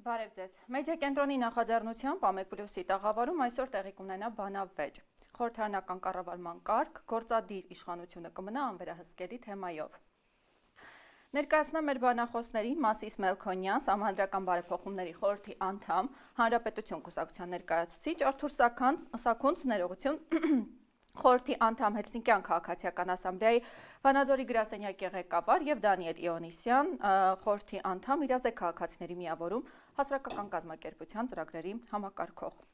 Բարև ձեզ։ Մեդիա կենտրոնի նախաձեռնությամբ Ամեկ Պլյուսի տաղավարում այսօր տեղի կունենա բանավեճ։ Խորհրդարանական կառավարման կարգ, գործադիր իշխանությունը կմնա անվերահսկելի թեմայով։ Ներկայացնեմ մեր բանախոսներին Մասիս Մելքոնյան, Սահմանադրական բարեփոխումների խորհրդի անդամ, Հանրապետություն կուսակցության ներկայացուցիչ, Արթուր Սաքունց, ներողություն, խորհրդի անդամ Հելսինկյան քաղաքացիական ասամբլեայի Վանաձորի գրասենյակի ղեկավար եւ Դանիել Իոնիսյան, խորհրդի անդամ Իրազեկ քաղաքացիների միավորում հասարակական կազմակերպության ծրագրերի համակարգող։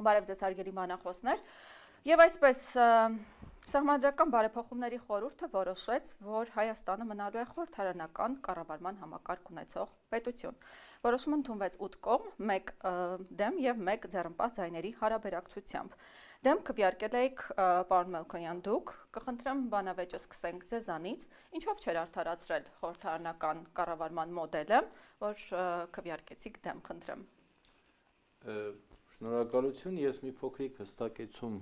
Բարև ձեզ հարգելի բանախոսներ։ Եվ այսպես Սահմանադրական բարեփոխումների խորհուրդը որոշեց, որ Հայաստանը մնալու է խորհրդարանական կառավարման համակարգ ունեցող պետություն։ Որոշումը ընդունվեց 8 կողմ, 1 դեմ եւ 1 ձեռնպահ ձայների հարաբերակցությամբ։ Դեմ քվեարկել եք պարոն Մելքոնյան դուք, կխնդրեմ բանավեճը սկսենք ձեզանից, ինչով չէր արդարացրել խորհրդարանական կառավարման մոդելը, որ քվեարկեցիք դեմ, խնդրեմ։ Շնորհակալություն, ես մի փոքրիկ հստակեցում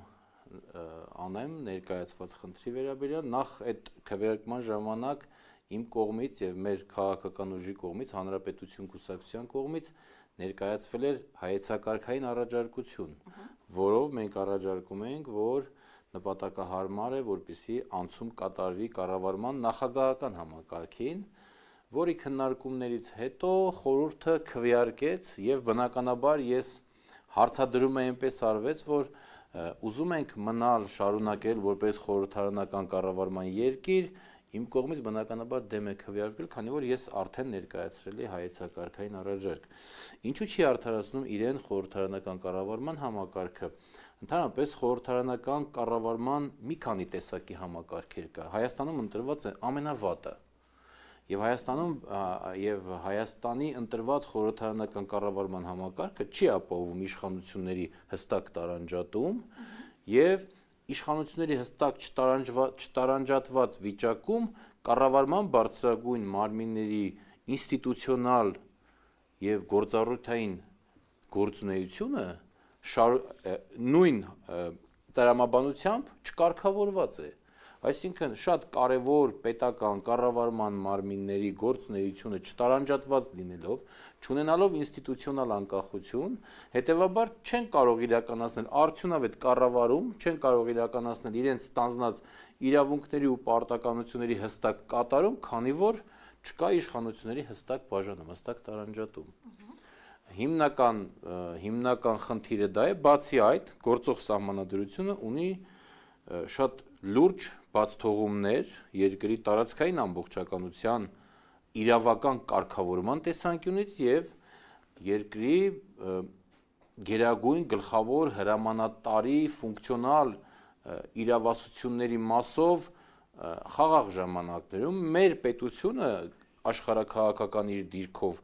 անեմ ներկայացված խնդրի վերաբերյալ, նախ այդ քվեարկման ժամանակ իմ կողմից եւ մեր քաղաքական ուժի կողմից, Հանրապետություն կուսակցության կողմից ներկայացվել էր հայեցակարգային առաջարկություն, որով մենք առաջարկում ենք, որ նպատակահարմար է, որպեսզի անցում կատարվի կառավարման նախագահական համակարգին, որի քննարկումներից հետո խորհուրդը քվեարկեց եւ բնականաբար ես հարցադրում եմ այնպես արվեց, որ ուզում ենք մնալ շարունակել որպես խորհրդարանական կառավարման երկիր, իմ կողմից բնականաբար դեմ է քվեարկվել, քանի որ ես արդեն ներկայացրել եմ հայեցակարգային առաջարկ։ Ինչու չի արդարացնում իրեն խորհրդարանական կառավարման համակարգը։ Ընդհանրապես խորհրդարանական կառավարման մի քանի տեսակի համակարգեր կա։ Հայաստանում ընտրված է ամենավատը։ Եվ Հայաստանի ընտրված խորհրդարանական կառավարման համակարգը չի ապահովում իշխանությունների հստակ տարանջատում եւ իշխանությունների հստակ չտարանջատված վիճակում կառավարման բարձրագույն մարմինների ինստիտուցիոնալ եւ գործառույթային գործունեությունը նույն տրամաբանությամբ չկարգավորված է։ Այսինքն շատ կարևոր պետական կառավարման մարմինների գործունեությունը չտարանջատված լինելով, չունենալով ինստիտուցիոնալ անկախություն, հետևաբար չեն կարող իրականացնել արդյունավետ կառավարում, չեն կարող իրականացնել իրենց ստանձնած իրավունքների ու պարտականությունների հստակ կատարում, քանի որ չկա իշխանությունների հստակ բաժանում, հստակ տարանջատում։ Հիմնական խնդիրը դա է, բացի այդ, գործող սահմանադրությունը ունի շատ լուրջ բացթողումներ երկրի տարածքային ամբողջականության իրավական կարգավորման տեսանկյունից եւ երկրի գերագույն գլխավոր հրամանատարի ֆունկցիոնալ իրավասությունների մասով խաղաղ ժամանակներում մեր պետությունը աշխարհաքաղաքական իր դիրքով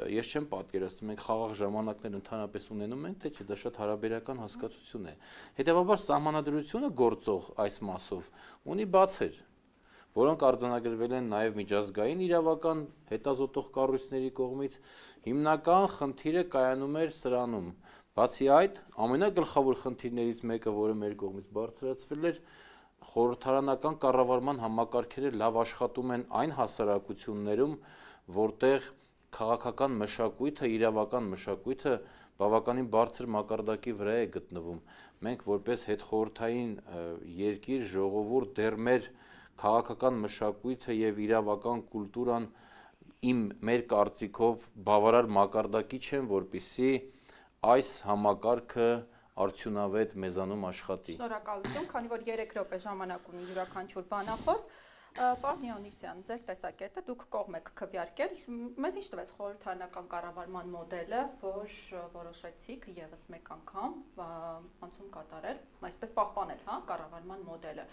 ես չեմ պատկերացնում մենք խաղաղ ժամանակներ ընդհանրապես ունենում ենք, թե չէ, դա շատ հարաբերական հասկացություն է։ Հետևաբար սահմանադրությունը գործող այս մասով ունի բացեր, որոնք արձանագրվել են նաև միջազգային իրավական հետազոտող կառույցների կողմից։ Հիմնական խնդիրը կայանում էր սրանում։ Բացի այդ, ամենագլխավոր խնդիրներից մեկը, որը մեր կողմից բարձրացվել էր, խորհրդարանական կառավարման համակարգերը լավ աշխատում են այն հասարակություններում, որտեղ քաղաքական մշակույթը, իրավական մշակույթը բավականին բարձր մակարդակի վրա է գտնվում։ Մենք որպես հետխորհրդային երկիր, ժողովուրդ դեռ մեր քաղաքական մշակույթը եւ իրավական կուլտուրան մեր կարծիքով բավարար մակարդակի չեն, որպեսզի այս համակարգը արդյունավետ մեզանում աշխատի։ Շնորհակալություն, քանի որ 3 րոպե ժամանակ ունի յուրաքանչյուր բանախոս։ Պարոն Իոնիսյան, ձեր տեսակետը դուք կողմ եք քվեարկել, մեզ ինչ տվեց խորհրդարանական կառավարման մոդելը, որ որոշեցիք եւս մեկ անգամ անցում կատարել, այսպես պահպանել, կառավարման մոդելը։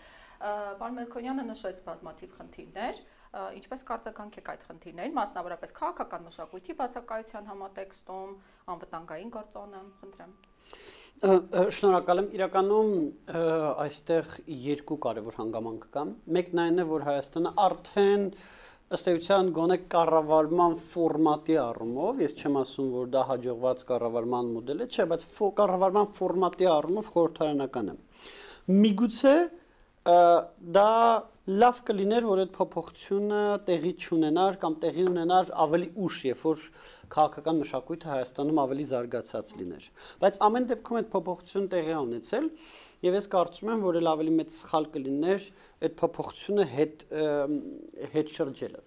Պարոն Մելքոնյանը նշեց բազմաթիվ խնդիրներ, ինչպես կարձականք եք այդ խնդիրներին, մասնավորապես քաղաքական մշակույթի բացակայության համատեքստում, անվտանգային գործոնը, խնդրեմ։ Շնորհակալ եմ, իրականում այստեղ երկու կարևոր հանգամանք կան։ Մեկն այն է, որ Հայաստանը արդեն ըստ էության գոնե կառավարման ֆորմատի առումով, ես չեմ ասում, որ դա հաջողված կառավարման մոդել է, չէ, բայց կառավարման ֆորմատի առումով խորհրդարանական է։ Միգուցե դա լավ կլիներ, որ այդ փոփոխությունը տեղի չունենար կամ տեղի ունենար ավելի ուշ, երբ որ քաղաքական մշակույթը Հայաստանում ավելի զարգացած լիներ։ Բայց ամեն դեպքում այդ փոփոխությունը տեղի է ունեցել, եւ ես կարծում եմ, որ էլ ավելի մեծ սխալ կլիներ այդ փոփոխությունը հետ շրջելը։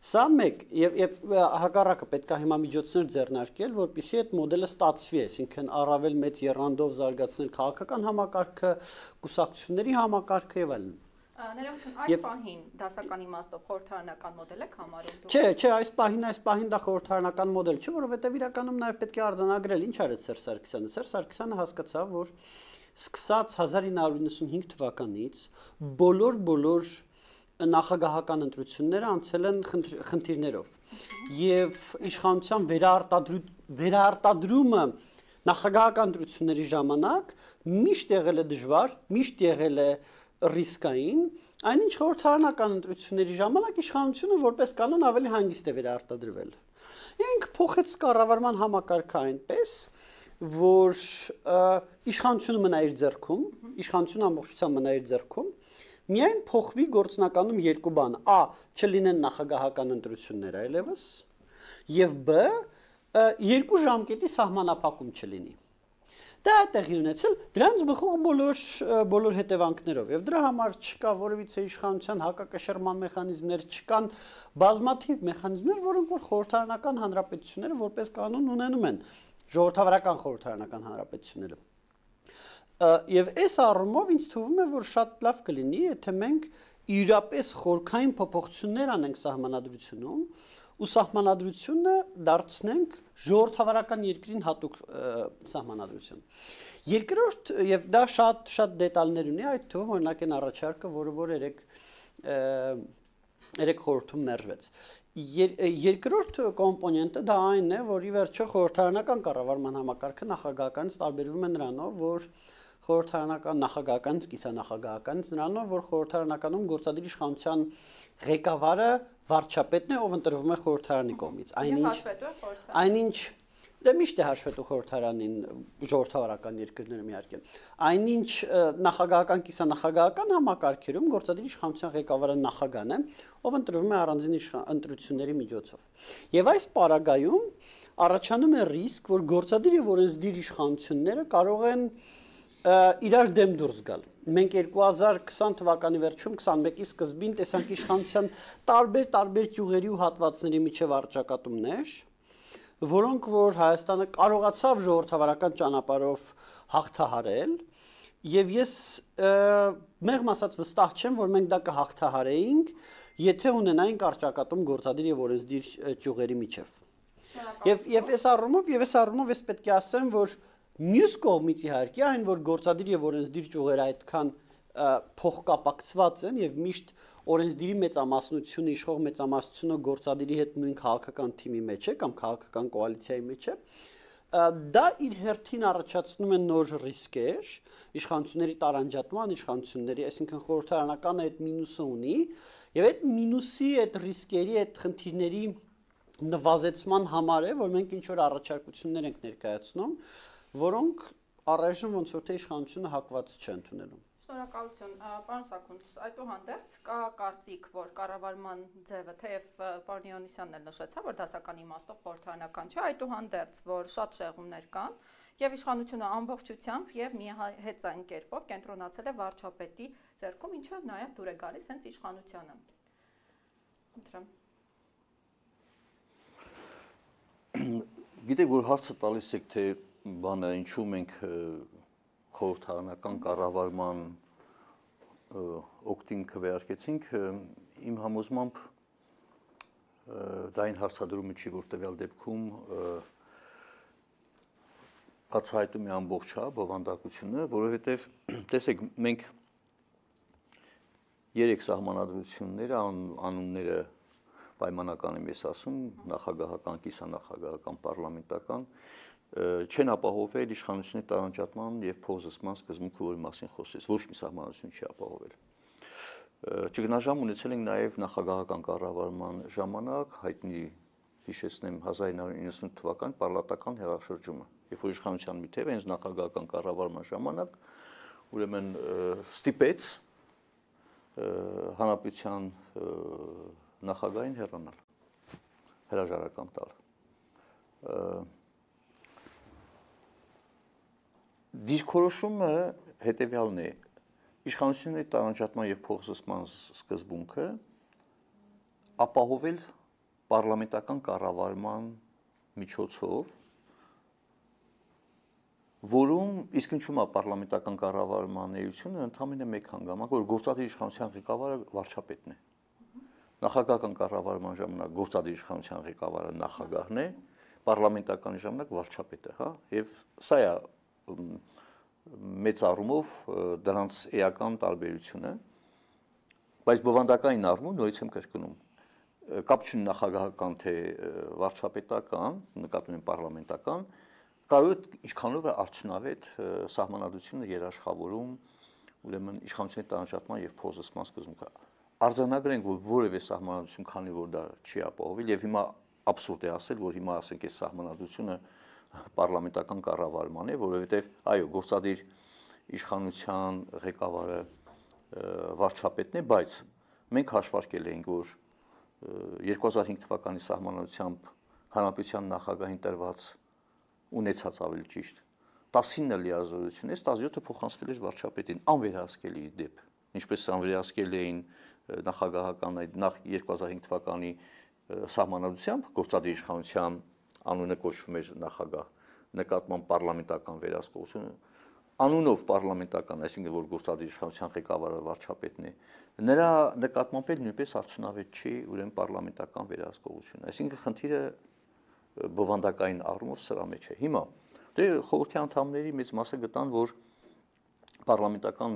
Սա մեկ եւ հակառակը պետք է հիմա միջոցներ ձեռնարկել, որպեսզի այդ մոդելը ստացվի, այսինքն առավել մեծ եռանդով զարգացնել քաղաքական համակարգը, կուսակցությունների համակարգը եւ այլն։ Ներողություն, այս պահին դասական իմաստով խորհրդարանական մոդել եք համարում դուք։ Չէ, այս պահին դա խորհրդարանական մոդել չէ, որովհետեւ իրականում նաեւ պետք է արձանագրել ինչ արեց Սերժ Սարգսյանը։ Սերժ Սարգսյանը հասկացավ, որ սկսած 1995 թվականից բոլոր նախագահական ընտրությունները անցել են խնդիրներով եւ իշխանության վերարտադրումը նախագահական ընտրությունների ժամանակ միշտ եղել է դժվար, միշտ եղել է ռիսկային, այնինչ խորհրդարանական ընտրությունների ժամանակ իշխանությունը որպես կանոն ավելի հանգիստ է վերարտադրվել։ Ինք փոխեց կառավարման համակարգը այնպես, որ իշխանությունը մնա իր ձեռքում, իշխանությունը ամբողջությամբ մնա իր ձեռքում, միայն փոխվի գործնականում երկու բան. A. Չլինեն նախագահական ընտրություններ այլևս, եւ B. Երկու ժամկետի սահմանափակում չլինի։ Դա տեղի ունեցել դրանց բխող բոլոր հետևանքներով եւ դրա համար չկա որևիցե իշխանության հակակշռման մեխանիզմներ, չկան բազմաթիվ մեխանիզմներ, որոնք որ խորհրդարանական հանրապետությունները որպես կանոն ունենում են, ժողովրդավարական խորհրդարանական հանրապետությունները։ Եվ այս առումով ինձ թվում է, որ շատ լավ կլինի, եթե մենք իրապես խորքային փոփոխություններ անենք սահմանադրությունում ու սահմանադրությունը դարձնենք ժողովրդավարական երկրին հատուկ սահմանադրություն։ Երկրորդ, եւ դա շատ դետալներ ունի, այդ թվում օրինակ են առաջարկը, որը որ երեք խորհրդում մերժվեց։ Երկրորդ կոմպոնենտը դա այն է, որ ի վերջո խորհրդարանական կառավարման համակարգը նախագահականից տարբերվում է նրանով, որ խորհրդարանական նախագահականից կիսանախագահականից նրանով, որ խորհրդարանականում գործադիր իշխանության ղեկավարը վարչապետն է, ով ընտրվում է խորհրդարանի կողմից։ Այնինչ դա միշտ է հաշվետու խորհրդարանին ժողովրդավարական երկրներում իհարկե։ Այնինչ նախագահական կիսանախագահական համակարգերում գործադիր իշխանության ղեկավարը նախագահն է, ով ընտրվում է առանձին ընտրությունների միջոցով։ Եվ այս պարագայում առաջանում է ռիսկ, որ գործադիր եւ օրենսդիր իշխանությունները կարող են իրար դեմ դուրս գալ։ Մենք 2020 թվականի վերջում 21-ի սկզբին տեսանք իշխանության տարբեր ճյուղերի ու հատվածների միջև առճակատումներ, որոնք որ Հայաստանը կարողացավ ժողովրդավարական ճանապարհով հաղթահարել, եւ ես մեղմ ասած վստահ չեմ, որ մենք դա կհաղթահարեինք, եթե ունենայինք առճակատում գործադիր եւ օրենսդիր ճյուղերի միջև։ Եվ այս առումով ես պետք է ասեմ, որ մյուս կողմից իհարկե այն, որ գործադիր եւ օրենսդիր ճյուղերը այդքան փոխկապակցված են եւ միշտ օրենսդիրի մեծամասնությունը, իշխող մեծամասնությունը գործադիրի հետ նույն քաղաքական թիմի մեջ է կամ քաղաքական կոալիցիայի մեջ է, դա իր հերթին առաջացնում է նոր ռիսկեր, իշխանությունների տարանջատման, իշխանությունների, այսինքն խորհրդարանական այդ մինուսը ունի, եւ այդ մինուսի, այդ ռիսկերի, այդ խնդիրների նվազեցման համար է, որ մենք ինչ որ առաջարկություններ ենք ներկայացնում, որոնք առայժմ ոնց որ թե իշխանությունը հակված չէ ընդունելու։ Շնորհակալություն, պարոն Սաքունց, այդուհանդերձ կա կարծիք, որ կառավարման ձևը, թեև պարոն Հովհաննիսյանն էլ նշեցավ, որ դասական իմաստով խորհրդարանական չէ, այդուհանդերձ, որ շատ շեղումներ կան, եւ իշխանությունը ամբողջությամբ եւ միահեծան կերպով կենտրոնացել է վարչապետի ձեռքում, ինչով նաեւ դուր է գալիս հենց իշխանությանը։ Խնդրեմ։ Գիտեք, որ հարցը տալիս եք, թե բանը ինչու մենք խորհրդարանական կառավարման օգտին քվեարկեցինք, իմ համոզմամբ դա այն հարցադրումը չի, որ տվյալ դեպքում բացահայտում է ամբողջ բովանդակությունը, որովհետև տեսեք, մենք 3 սահմանադրությունները, անունները պայմանական եմ ես ասում, նախագահական, կիսանախագահական, պարլամենտական, չեն ապահովել իշխանությունների տարանջատման եւ փոխզսման սկզբունքը, որի մասին խոսեց, ոչ մի սահմանադրություն չի ապահովել։ Ճգնաժամ ունեցել ենք նաեւ նախագահական կառավարման ժամանակ, հայտնի հիշեցնեմ 1998 թվական պարլատական հեղաշրջումը, երբ որ իշխանության մի թև հենց նախագահական կառավարման ժամանակ ուրեմն ստիպեց հանրապետության նախագահին հեռանալ, հրաժարական տալ։ Դիրքորոշումը հետևյալն է. իշխանությունների տարանջատման եւ փոխզսման սկզբունքը ապահովել պարլամենտական կառավարման միջոցով, որում իսկ ինչու՞ է պարլամենտական կառավարման էությունը ընդամենը մեկ հանգամանք, որ գործադիր իշխանության ղեկավարը վարչապետն է։ Նախագահական կառավարման ժամանակ գործադիր իշխանության ղեկավարը նախագահն է, պարլամենտական ժամանակ վարչապետը, հա, եւ սա է մեծ առումով դրանց էական տարբերությունը, բայց բովանդակային առումով նորից եմ կրկնում, կապ չունի նախագահական թե վարչապետական, նկատում եմ պարլամենտական, կարող է ինչքանով է արդյունավետ սահմանադրությունը երաշխավորում, ուրեմն իշխանությունների տարանջատման եւ փոխզսման սկզբունքը։ Արձանագրենք, որ որևէ սահմանադրություն, քանի որ դա չի ապահովել, եւ հիմա абսուրդ է ասել, որ հիմա ասենք այս սահմանադրությունը պարլամենտական կառավարման է, որովհետեւ այո, գործադիր իշխանության ղեկավարը վարչապետն է, բայց մենք հաշվարկել էինք, որ 2005 թվականի սահմանադրությամբ հանրապետության նախագահին տրված ունեցած ավելի ճիշտ 19 լիազորությունից 17-ը փոխանցվել էր վարչապետին, անվերահսկելի դեպ, ինչպես անվերահսկել էին նախագահական նախ 2005 թվականի սահմանադրությամբ գործադիր իշխանության անունը կոչվում էր նախագահ, նկատմամբ պարլամենտական վերահսկողությունը, անունով պարլամենտական, այսինքն որ գործադիր իշխանության ղեկավարը վարչապետն է, նրա նկատմամբ էլ նույնպես արդյունավետ չի ուրեմն պարլամենտական վերահսկողությունը, այսինքն խնդիրը բովանդակային առումով սրա մեջ է։ Հիմա դե խորհրդի անդամների մեծ մասը գտան, որ պարլամենտական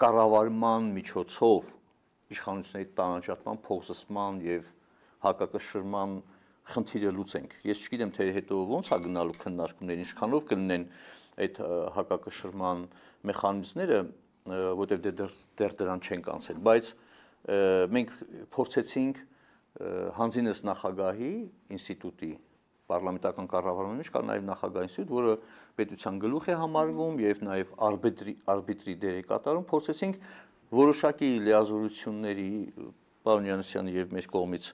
կառավարման միջոցով իշխանությունների տարանջատման, փոխզսման եւ հակակշռման խնդիրը լուծենք։ Ես չգիտեմ, թե հետո ոնց է գնալու քննարկումներ, ինչքանով կլինեն այդ հակակշռման մեխանիզմները, որտեղ դեռ դրան չենք անցել, բայց մենք փորձեցինք հանձինս նախագահի ինստիտուտի պարլամենտական կառավարման մեջ կա նաև նախագահ ինստիտուտ, որը պետության գլուխ է համարվում եւ նաև արբիտրի դեր է կատարում, փորձեցինք որոշակի լիազորությունների պարոն Յանուսյանի եւ մեր կողմից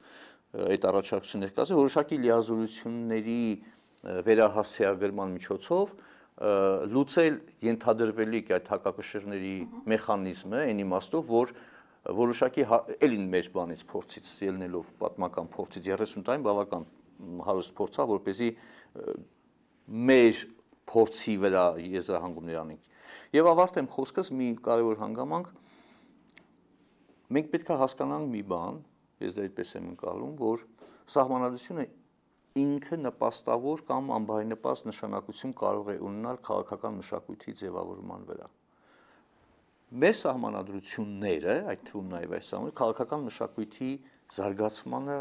այդ առաջարկություններ կազմել, որոշակի լիազորությունների վերահասցեագրման միջոցով լուծել ենթադրվելիք այդ հակակշռների մեխանիզմը, այն իմաստով, որ որոշակի ելին մեր բանից փորձից ելնելով պատմական փորձից 30 տարին բավական հարուստ փորձա, որպեսզի մեր փորձի վրա եզրահանգումներ անենք։ Եվ ավարտեմ խոսքս մի կարևոր հանգամանք, մենք պետք է հասկանանք մի բան, ես դա այդպես եմ ընկալում, որ սահմանադրությունը ինքը նպաստավոր կամ անբարենպաստ նշանակություն կարող է ունենալ քաղաքական մշակույթի ձևավորման վրա։ Մեր սահմանադրությունները, այդ թվում նաև այս սահմանադրությունը քաղաքական մշակույթի զարգացմանը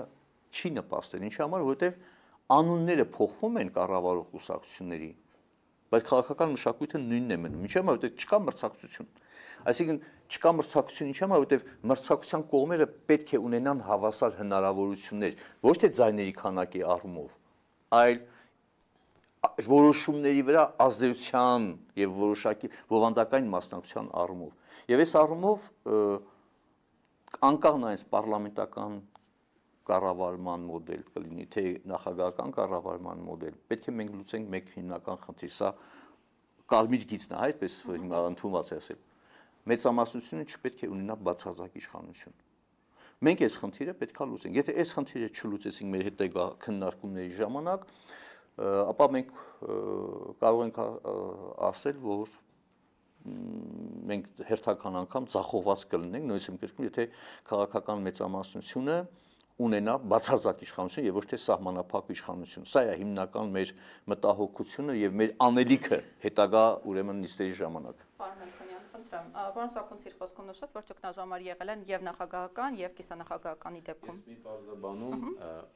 չի նպաստել, ինչի համար, որովհետև անունները փոխվում են կառավարող կուսակցությունների, բայց քաղաքական մշակույթը նույնն է մնում, ինչի համար, որովհետև չկա մրցակցություն։ Այսինքն չկա մրցակցություն, ինչի համար, որովհետև մրցակցության կողմերը պետք է ունենան հավասար հնարավորություններ, ոչ թե ձայների քանակի առումով, այլ որոշումների վրա ազդեցության եւ որոշակի բովանդակային մասնակցության առումով։ Եվ այս առումով անկախ նայած պարլամենտական կառավարման մոդել կլինի, թե նախագահական կառավարման մոդել, պետք է մենք լուծենք մեկ հիմնական խնդիր, սա կարմիր գիծն է, այդպես հիմա ընդունված է ասել։ Մեծամասնությունը չպետք է ունենա բացարձակ իշխանություն։ Մենք այս խնդիրը պետք է լուծենք։ Եթե այս խնդիրը չլուծեցինք մեր հետագա քննարկումների ժամանակ, ապա մենք կարող ենք ասել, որ մենք հերթական անգամ ձախողված կլինենք, նույնիսկ եմ կրկնում, եթե քաղաքական մեծամասնությունը ունենա բացարձակ իշխանություն եւ ոչ թե սահմանափակ իշխանություն։ Սա է հիմնական մեր մտահոգությունը եւ մեր անելիքը հետագա ուրեմն նիստերի ժամանակ։ Պարոն Մելքոնյան, խնդրեմ, պարոն Սաքունցի խոսքում նշած, որ ճգնաժամեր եղել են եւ նախագահական եւ կիսանախագահականի դեպքում։ Ես մի բարձաբանում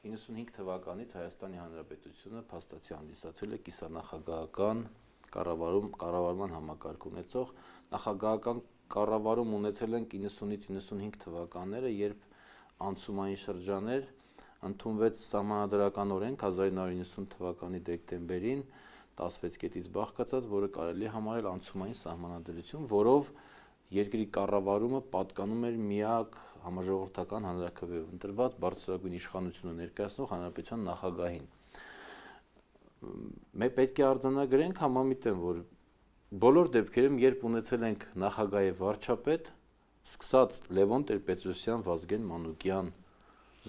95 թվականից Հայաստանի Հանրապետությունը փաստացի հանդիսացել է կիսանախագահական կառավարման համակարգ ունեցող, նախագահական կառավարում ունեցել են 90-95 թվականները, երբ անցումային շրջաներ ընդունվեց սահմանադրական օրենք 1990 թվականի դեկտեմբերին 16 կետից բաղկացած, որը կարելի է համարել անցումային սահմանադրություն, որով երկրի կառավարումը պատկանում էր միակ համաժողովրդական հանրաքվեով ընտրված բարձրագույն իշխանությունը ներկայացնող հանրապետության նախագահին։ Մենք պետք է արձանագրենք, համամիտեմ, որ բոլոր դեպքերում, երբ ունեցել ենք նախագահ եւ վարչապետ, սկսած Լևոն Տեր-Պետրոսյան, Վազգեն Մանուկյան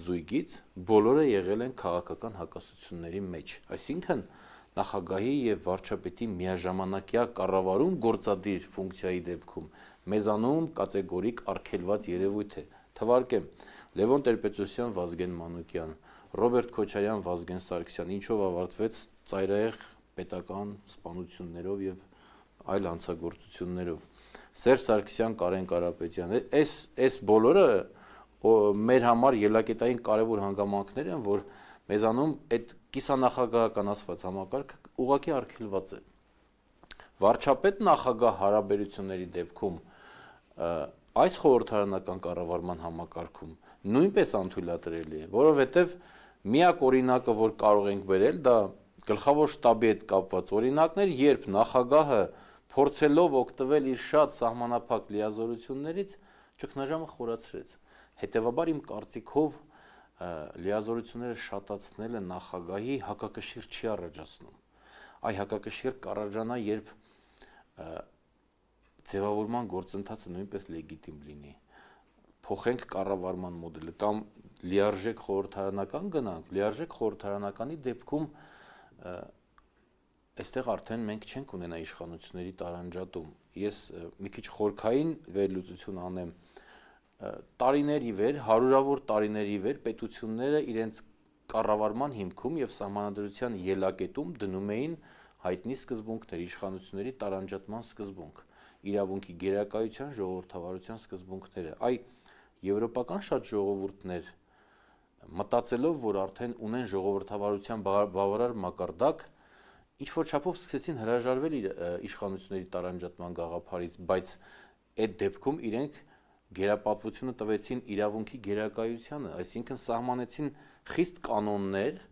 զույգից, բոլորը եղել են քաղաքական հակասությունների մեջ։ Այսինքն նախագահի եւ վարչապետի միաժամանակյա կառավարում գործադիր ֆունկցիայի դեպքում մեզանում կատեգորիկ արգելված երևույթ է։ Թվարկեմ, Լևոն Տեր-Պետրոսյան, Վազգեն Մանուկյան, Ռոբերտ Քոչարյան, Վազգեն Սարգսյան, ինչով ավարտվեց ծայրահեղ պետական սպանություններով եւ այլ հանցագործություններով։ Սերժ Սարգսյան, Կարեն Կարապետյան, այս բոլորը մեր համար ելակետային կարևոր հանգամանքներ են, որ մեզանում այդ կիսանախագահականացված համակարգը ուղղակի արգելված է։ Վարչապետ նախագահ հարաբերությունների դեպքում այս խորհրդարանական կառավարման համակարգում նույնպես անթույլատրելի է, որովհետև միակ օրինակը, որ կարող ենք բերել, դա գլխավոր շտաբի հետ կապված օրինակներ, երբ նախագահը փորձելով օգտվել իր շատ սահմանափակ լիազորություններից, ճգնաժամը խորացրեց։ Հետևաբար իմ կարծիքով լիազորությունները շատացնելը նախագահի հակակշիռ չի առաջացնում։ Այ հակակշիռ կառաջանա, երբ ձևավորման գործընթացը նույնպես լեգիտիմ լինի։ Փոխենք կառավարման մոդելը կամ լիարժեք խորհրդարանական գնանք, լիարժեք խորհրդարանականի դեպքում այստեղ արդեն մենք չենք ունենա իշխանությունների տարանջատում։ Ես մի քիչ խորքային վերլուծություն անեմ։ Տարիների վեր, հարյուրավոր տարիների վեր պետությունները իրենց կառավարման հիմքում եւ սահմանադրության ելակետում դնում էին հայտնի սկզբունքներ, իշխանությունների տարանջատման սկզբունք, իրավունքի գերակայության, ժողովրդավարության սկզբունքները։ Այ եվրոպական շատ ժողովուրդներ մտածելով, որ արդեն ունեն ժողովրդավարության բավարար մակարդակ, ինչ որ չափով սկսեցին հրաժարվել իշխանությունների տարանջատման գաղափարից, բայց այդ դեպքում իրենք գերապատվությունը տվեցին իրավունքի գերակայությանը, այսինքն սահմանեցին խիստ կանոններ,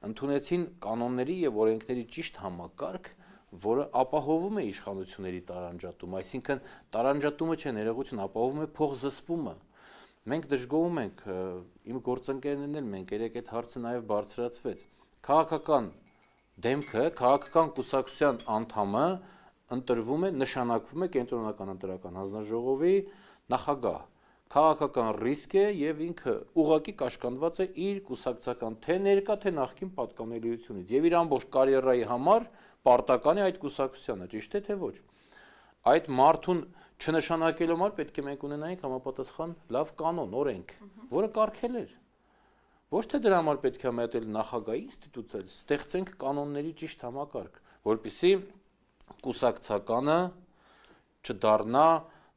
ընդունեցին կանոնների եւ օրենքների ճիշտ համակարգ, որը ապահովում է իշխանությունների տարանջատումը, այսինքն տարանջատումը չէ, ներողություն, ապահովում է փոխզսպումը։ Մենք դժգոհում ենք, իմ գործընկերներն էլ մենք երեք այդ հարցը նաեւ բարձրացվեց։ Քաղաքական դեմքը, քաղաքական կուսակցության անդամը ընտրվում է, նշանակվում է կենտրոնական ընտրական հանձնաժողովի նախագահ։ Քաղաքական ռիսկ է եւ ինքը ուղղակի կաշկանդված է իր կուսակցական թե ներկա թե նախկին պատկանելիությունից եւ իր ամբողջ կարիերայի համար պարտական է այդ կուսակցությանը, ճիշտ է թե ոչ։ Այդ մարդուն չնշանակելու համար պետք է մենք ունենայինք համապատասխան լավ կանոն, օրենք, որը կարգել էր։ Ոչ թե դրա համար պետք է համատել նախագահի ինստիտուտը, ստեղծենք կանոնների ճիշտ համակարգ, որպեսզի կուսակցականը չդառնա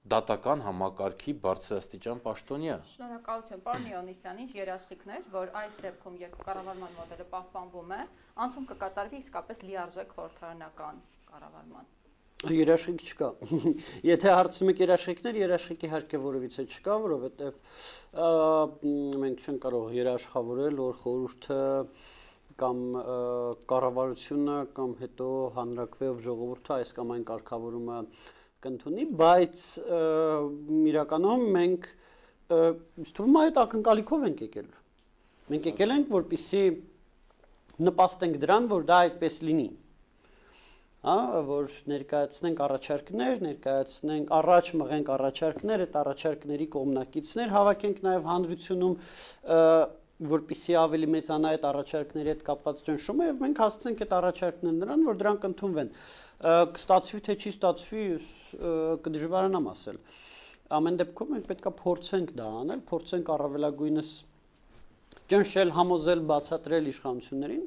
դատական համակարգի բարձրաստիճան պաշտոնյա։ Շնորհակալություն, պարոն Իոնիսյան, ինչ երաշխիքներ, որ այս դեպքում, երբ կառավարման մոդելը պահպանվում է, անցում կկատարվի իսկապես լիարժեք խորհրդարանական կառավարման։ Երաշխիք չկա։ Եթե հարցում եք երաշխիքներ, երաշխիք իհարկե որևիցե չկա, որովհետև մենք չենք կարող երաշխավորել, որ խորհուրդը կամ կառավարությունը կամ հետո հանրաքվեով ժողովուրդը այս կամ այն կարգավորումը կընդունի, բայց իրականում մենք թվում է այդ ակնկալիքով ենք եկել։ Մենք եկել ենք, որպեսզի նպաստենք դրան, որ դա այդպես լինի։ Որ ներկայացնենք առաջարկներ, ներկայացնենք առաջ մղենք առաջարկներ, այդ առաջարկների կողմնակիցներ հավաքենք նաև հանրությունում, որպեսզի ավելի մեծանա այդ առաջարկների հետ կապված ճնշումը եւ մենք հասցնենք այդ առաջարկներն նրան, որ դրանք ընդունվեն։ Կստացվի թե չի ստացվի, կդժվարանամ ասել։ Ամեն դեպքում մենք պետքա փորձենք դա անել, փորձենք առավելագույնս ճնշել, համոզել, բացատրել իշխանություններին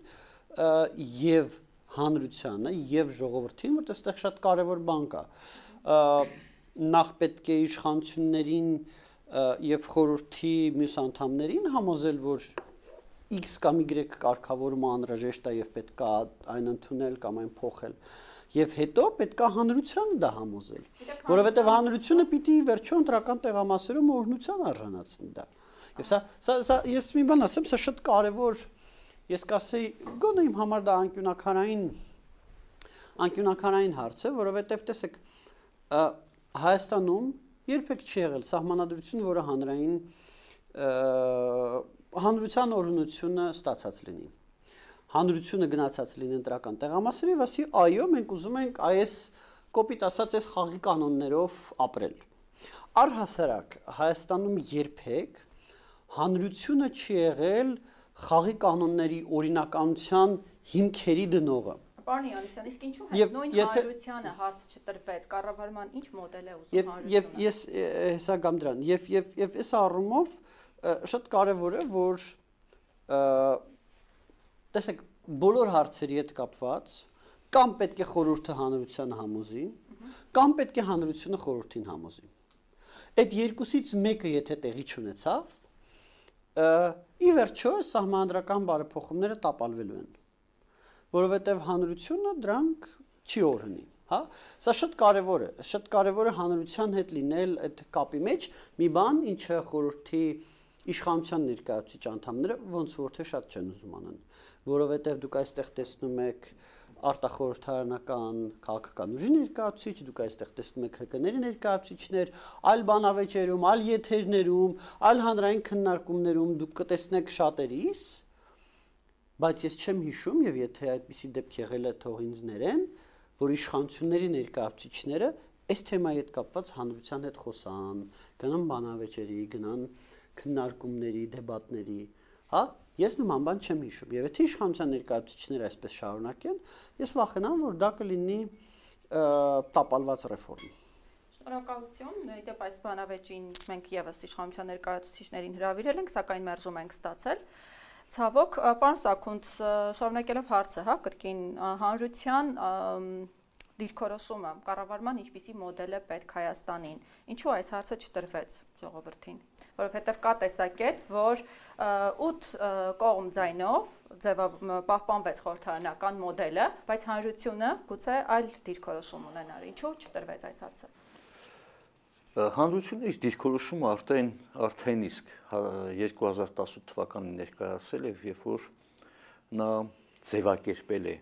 եւ հանրությանը եւ ժողովրդին, որտեղ այստեղ շատ կարեւոր բան կա։ Նախ պետք է իշխանություններին եւ խորհրդի մյուս անդամներին համոզել, որ X կամ Y կարգավորումը անհրաժեշտ է եւ պետք է այն ընդունել կամ այն փոխել։ Եվ հետո պետք է հանրությանը դա համոզել, որովհետեւ հանրությունը պիտի վերջո ընտրական տեղամասերում օրհնության արժանացնի դա։ Եվ սա ես մի բան ասեմ, սա շատ կարեւոր, ես կասեի, գոնե իմ համար դա անկյունակարային հարց է, որովհետեւ տեսեք, Հայաստանում երբեք չի եղել սահմանադրություն, որը հանրության օրհնությունը ստացած լինի։ Հանրությունը գնացած լինի ընտրական տեղամասերի, ասի այո, մենք ուզում ենք այս կոպիտ ասած այս խաղի կանոններով ապրել։ Առհասարակ Հայաստանում երբեք հանրությունը չի եղել խաղի կանոնների օրինականության հիմքերի դնողը։ Պարոն Յանիսյան, իսկ ինչու հենց նույն հանրությանը հարց չտրվեց, կառավարման ինչ մոդել է ուզում հանրությունը։ Եվ ես հեսա գամ դրան, եւ այս առումով շատ կարեւոր է, որ տեսեք, բոլոր հարցերի հետ կապված կամ պետք է խորհուրդը հանրությանը համոզի, կամ պետք է հանրությունը խորհրդին համոզի։ Այդ երկուսից մեկը եթե տեղի չունեցավ, ի վերջո սահմանադրական բարեփոխումները տապալվելու են, որովհետև հանրությունը դրանք չի օրհնի, հա։ Սա շատ կարևոր է հանրության հետ լինել այդ կապի մեջ, մի բան, ինչը խորհրդի իշխանության ներկայացուցիչ անդամները ոնց որ թե շատ չեն ուզում անեն, որովհետև դուք այստեղ տեսնում եք արտախորհրդարանական քաղաքական ուժի ներկայացուցիչ, դուք այստեղ տեսնում եք ՀԿ-ների ներկայացուցիչներ, այլ բանավեճերում, այլ եթերներում, այլ հանրային քննարկումներում դուք կտեսնեք շատերիս, բայց ես չեմ հիշում եւ եթե այդպիսի դեպք եղել է թող ինձ ներեն, որ իշխանությունների ներկայացուցիչները այս թեմայի հետ կապված հանրության հետ խոսան, գնան բանավեճերի, գնան քննարկումների, դեբատների, հա, ես նման բան չեմ հիշում եւ եթե իշխանության ներկայացուցիչները այսպես շարունակեն, ես վախենամ, որ դա կլինի տապալված ռեֆորմ։ Շնորհակալություն, իդեպ այս բանավեճին մենք եւս իշխանության ներկայացուցիչներին հրավիրել ենք, սակայն մերժում ենք ստացել։ Ցավոք, պարոն Սաքունց, շարունակելով հարցը, հա, կրկին հանրության դիրքորոշումը, կառավարման ինչպիսի մոդել է պետք Հայաստանին։ Ինչու այս հարցը չտրվեց ժողովրդին, որովհետև կա տեսակետ, որ 8 կողմ ձայնով պահպանվեց խորհրդարանական մոդելը, բայց հանրությունը գուցե այլ դիրքորոշում ունենար։ Ինչու չտրվեց այս հարցը։ Հանրությունը իր դիրքորոշումը արդեն իսկ 2018 թվականին ներկայացել է, երբ որ նա ձևակերպել է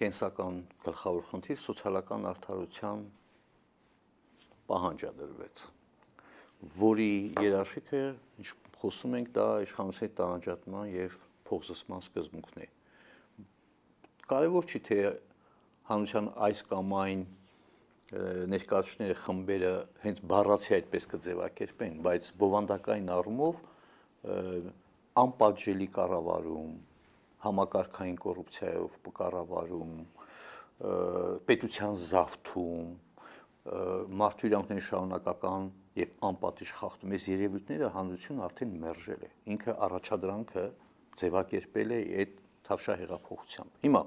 կենսական գլխավոր խնդիր սոցիալական արդարության պահանջադրվեց, որի երաշխիքը, ինչ խոսում ենք, դա իշխանության տարանջատման եւ փոխզսման սկզբունքն է։ Կարևոր չի թե հանրության այս կամ այն ներկայացուցիչները խմբերը հենց բառացի այդպես կձևակերպեն, բայց բովանդակային առումով անպատժելի կառավարում, համակարգային կոռուպցիայով կառավարում, պետության զավթում, մարդու իրավունքների շարունակական եւ անպատիժ խախտում, այս երևույթները հանրությունը արդեն մերժել է։ Ինքը առաջադրանքը ձևակերպել է այդ թավշյա հեղափոխությամբ։ Հիմա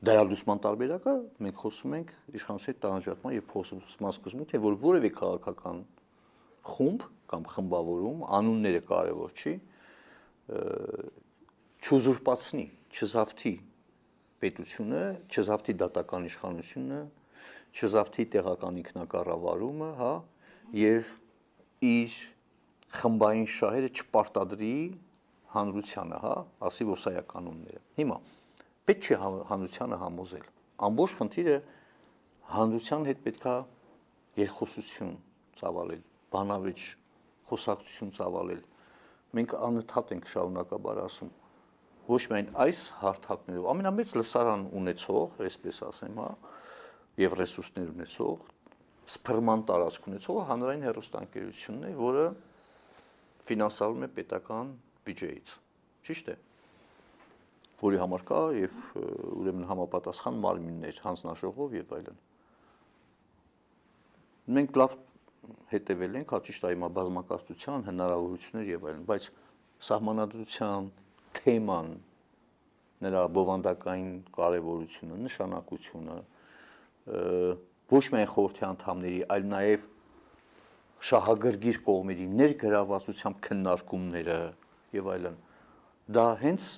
դարալուսման տարբերակը մենք խոսում ենք իշխանության տարանջատման եւ փոխզսման սկզբում, թե որ որևէ քաղաքական խումբ կամ խմբավորում, անունները կարևոր չի, չուզուրպացնի, չզավթի պետությունը, չզավթի դատական իշխանությունը, չզավթի տեղական ինքնակառավարումը, հա, եւ իր խմբային շահերը չպարտադրի հանրությանը, հա, ասի որ սա է կանոնները։ Հիմա պետք չէ հանրությանը համոզել։ Ամբողջ խնդիրը հանրության հետ պետքա երկխոսություն ծավալել, բանավեճ խոսակցություն ծավալել։ Մենք անընդհատ ենք շարունակաբար ասում, ոչ միայն այս հարթակներով, ամենամեծ լսարան ունեցող, այսպես ասեմ, հա, եւ ռեսուրսներ ունեցող, սփռման տարածք ունեցող հանրային հեռուստաընկերությունն է, որը ֆինանսավորվում է պետական բյուջեից։ Ճիշտ է։ Որի համար կա եւ ուրեմն համապատասխան մարմիններ, հանձնաժողով եւ այլն։ Մենք լավ հետևել ենք, հա ճիշտ է, հիմա բազմակացության հնարավորություններ եւ այլն, բայց սահմանադրության թեման, նրա բովանդակային կարեւորությունը, նշանակությունը ոչ միայն խորհրդի անդամների, այլ նաեւ շահագրգիռ կողմերի ներգրավվածությամբ քննարկումները եւ այլն, դա հենց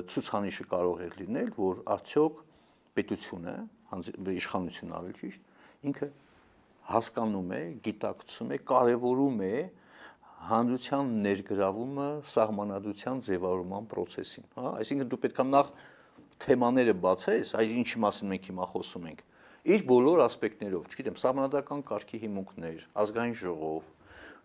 ցուցանիշը կարող է լինել, որ արդյոք պետությունը, իշխանությունն ավելի ճիշտ, ինքը հասկանում է, գիտակցում է, կարևորում է հանրության ներգրավումը սահմանադրության ձևավորման process-ին, հա, այսինքն դու պետք է նախ թեմաները բացես, այս ինչի մասին մենք հիմա խոսում ենք, իր բոլոր ասպեկտներով, չգիտեմ, սահմանադրական կարգի հիմունքներ, ազգային ժողով,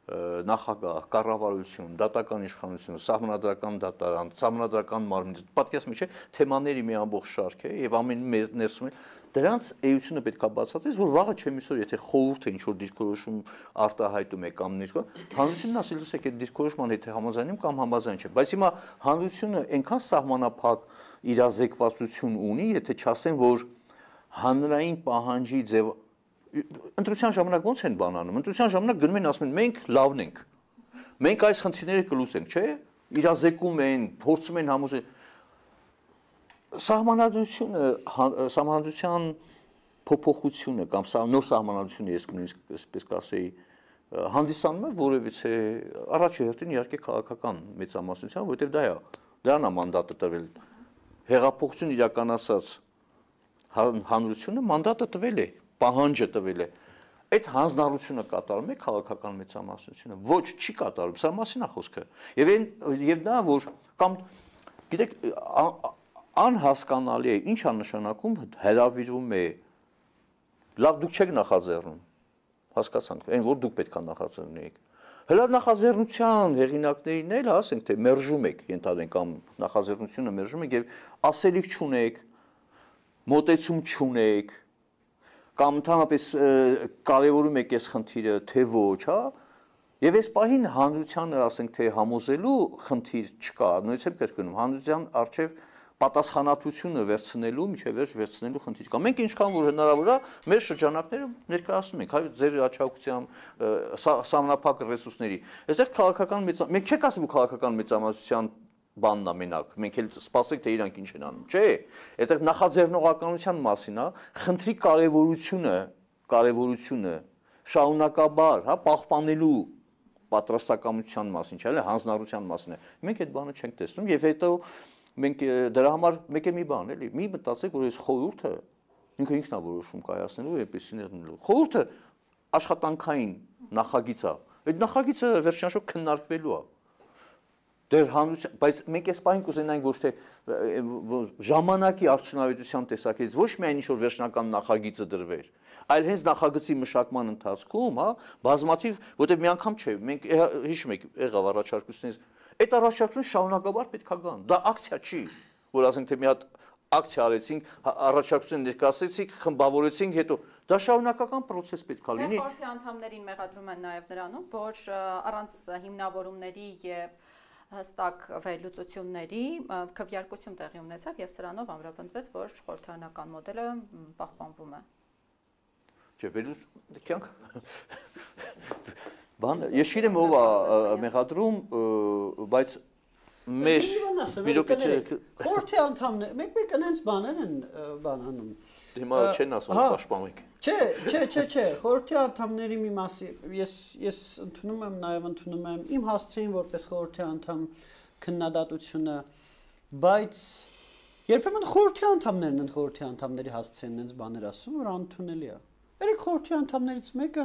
նախագահ, կառավարություն, դատական իշխանություն, սահմանադրական դատարան, սահմանադրական մարմին, պատկերացնի չէ, թեմաների մի ամբողջ շարք է եւ ամեն ներսում է դրանց էությունը պետք է բացատրես, որ վաղը չեմ իսօր, եթե խորհուրդը ինչ որ դիրքորոշում արտահայտում է կամ ներկա, հանրությունն ասելուց է այդ դիրքորոշման հետ համաձայնում կամ համաձայն չէ, բայց հիմա հանրությունը այնքան սահմանափակ իրազեկվածություն ունի, եթե չասեն, որ հանրային պահանջի ձև ընտրության ժամանակ ո՞նց են բանանում, ընտրության ժամանակ գնում են ասում են մենք լավն ենք, մենք այս խնդիրները կլուծենք, չէ, իրազեկում են, փորձում են համոզել սահմանադրության փոփոխությունը կամ նոր սահմանադրությունը ես նույնիսկ այսպես կասեի հանդիսանում է որևիցե առաջի հերթին իհարկե քաղաքական մեծամասնության, որովհետև դա է, դրան է մանդատը տրվել, հեղափոխություն իրականացած հանրությունը մանդատը տվել է, պահանջը տվել է, այդ հանձնառությունը կատարում է քաղաքական մեծամասնությունը, ոչ չի կատարում, սա մասին է խոսքը, եւ դա որ կամ գիտեք անհասկանալի է, ինչ է նշանակում հրավիրվում է, լավ դուք չեք նախաձեռնում, հասկացանք, այն որ դուք պետք է նախաձեռնեիք, հələ նախաձեռնության հեղինակներին էլ ասենք թե մերժում եք, ենթադրենք կամ նախաձեռնությունը մերժում եք եւ ասելիք չունեք, մոտեցում չունեք, կամ ընդհանրապես կարևորում եք այս խնդիրը, թե ոչ, հա, եւ այս պահին հանրությանը ասենք թե համոզելու խնդիր չկա, նույնիսկ կրկնում, հանրության արժեվ պատասխանատվությունը վերցնելու, միջև վերջ վերցնելու խնդիր կա։ Մենք ինչքան որ հնարավոր է մեր շրջանակներում ներկայացնում ենք, հայ ձեր աչակցությամբ սահմանափակ ռեսուրսների։ Այստեղ քաղաքական մենք չեք ասում քաղաքական մեծամասնության բանն է մենակ, մենք էլ սպասենք թե իրանք ինչ են անում, չէ։ Այստեղ նախաձեռնողականության մասին է, խնդրի կարևորությունը շարունակաբար, հա, պահպանելու պատրաստակամության մասին, չէ՞, հանձնառության մասին է։ Մենք այդ բանը չենք տեսնում եւ հետո մենք դրա համար մեկ է մի բան էլի, մի մտածեք, որ այս խորհուրդը ինքը ինքն է որոշում կայացնելու եւ այդպեսին եղնելու։ Խորհուրդը աշխատանքային նախագիծ է։ Այդ նախագիծը վերջնաշոք քննարկվելու է։ Դեր հանրության, բայց մենք այս պահին կուզենայինք ոչ թե ժամանակի արդյունավետության տեսակետից ոչ միայն ինչ որ վերջնական նախագիծը դրվեր, այլ հենց նախագծի մշակման ընթացքում, հա, բազմաթիվ, որտեղ մի անգամ չէ, մենք հիշում եք եղավ առաջարկությունից, այդ առաջարկությունը շարունակաբար պետք է գան։ Դա ակցիա չի, որ ասենք թե մի հատ ակցիա արեցինք, առաջարկություն ներկայացրեցինք, խմբավորեցինք, հետո դա շարունակական process պետք է լինի։ Խորհրդի անդամներին մեղադրում են նաև նրանում, որ առանց հիմնավորումների եւ հստակ վերլուծությունների քվեարկություն տեղի ունեցավ եւ սրանով ամրապնդվեց, որ խորհրդարանական մոդելը պահպանվում է։ Չէ, վերլուծենք բան, ես չգիտեմ ով է մեղադրում, բայց մեր խորհրդի անդամները մեկ այնց բաներ են բանանում։ Հիմա չեն ասում պաշտպանում եք։ Չէ, խորհրդի անդամների մի մասի ես ընդունում եմ, նաև ընդունում եմ իմ հասցեին որպես խորհրդի անդամ քննադատությունը, բայց երբեմն խորհրդի անդամներն են խորհրդի անդամների հասցեին այնց բաներ ասում, որ անընդունելի է։ Երեք խորհրդի անդամներից մեկը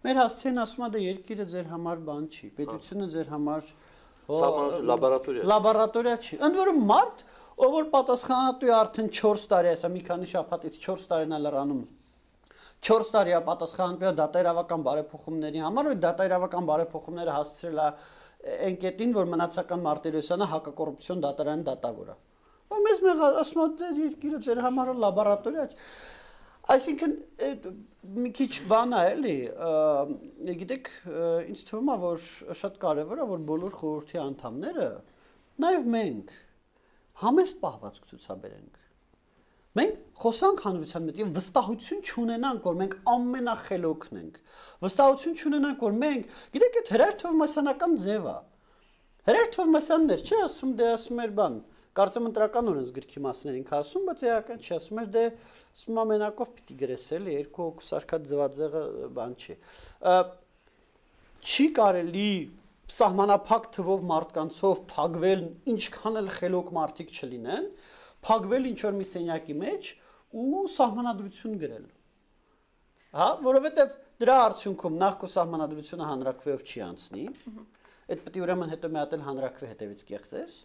մեր հասցեին ասում է դա երկիրը ձեր համար բան չի, պետությունը ձեր համար լաբորատորիա չի։ Ընդ որում մարդ, ով որ պատասխանատու է արդեն 4 տարի, այսա մի քանի շաբաթից 4 տարին է լրանում 4 տարի է պատասխանատու է դատաիրավական բարեփոխումների համար, ու դատաիրավական բարեփոխումները հասցրել է այն կետին, որ մնացական Մարտիրոսյանը հակակոռուպցիոն դատարանի դատավոր է։ Ու մեզ ասում է երկիրը ձեր համար լաբորատորիա չի։ Այսինքն մի քիչ բան է էլի, գիտեք, ինձ թվում է, որ շատ կարևոր է, որ բոլոր խորհրդի անդամները, նաև մենք համեստ պահվածք ցուցաբերենք։ Մենք խոսանք հանրության մեջ եւ վստահություն չունենանք, որ մենք ամենախելոքն ենք։ Վստահություն չունենանք, որ մենք, գիտեք, այդ Հրայր Թովմասյանական ձև է։ Հրայր Թովմասյանն էր, չէ, ասում դե ասում էր բան, կարծեմ ընտրական օրենսգրքի մասին ինքը ասում, բայց էական չի, ասում էր դե ասում ամենակով պիտի գրես էլի, երկու հոգու սարքած ձվածեղը բան չի։ Չի կարելի սահմանափակ թվով մարդկանցով փակվել, ինչքան էլ խելոք մարդիկ չլինեն, փակվել ինչ որ մի սենյակի մեջ ու սահմանադրություն գրել։ Հա, որովհետև դրա արդյունքում նախ քո սահմանադրությունը հանրակրվեով չի անցնի, այդ պետք է ուրեմն հետո մի հատ էլ հանրակրվե հետևից կեղծես,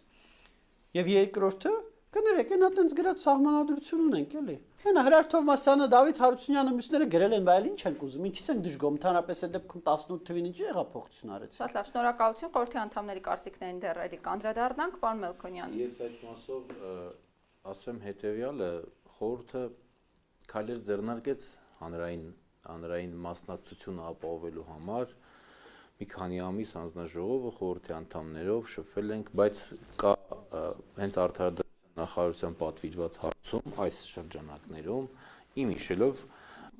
եւ երկրորդը Կներեք, այն այտենց գրած սահմանադրություն ունենք, էլի։ Հենա Հրար Թովմասյանը, Դավիթ Հարությունյանը մյուսները գրել են, բայց ինչ ենք ուզում, ինչից են դժգոհում, ընդհանրապես այդ դեպքում 18 թվին ինչ հեղափոխություն արեց։ Շատ լավ, շնորհակալություն, խորհրդի անդամների կարծիքներին դեռ էլի կանդրադառնանք, պարոն Մելքոնյան։ Ես այդ մասով ասեմ հետեւյալը, խորհուրդը քայլեր ձեռնարկեց հանրային մասնակցությունը ապահովելու համար։ Մի քանի ամիս հանձնաժողովը խորհրդի անդամներով շփվել ենք, բայց կա հենց արդարադատության նախարարության պատվիրված հարցում այս շրջանակներում իմ հիշելով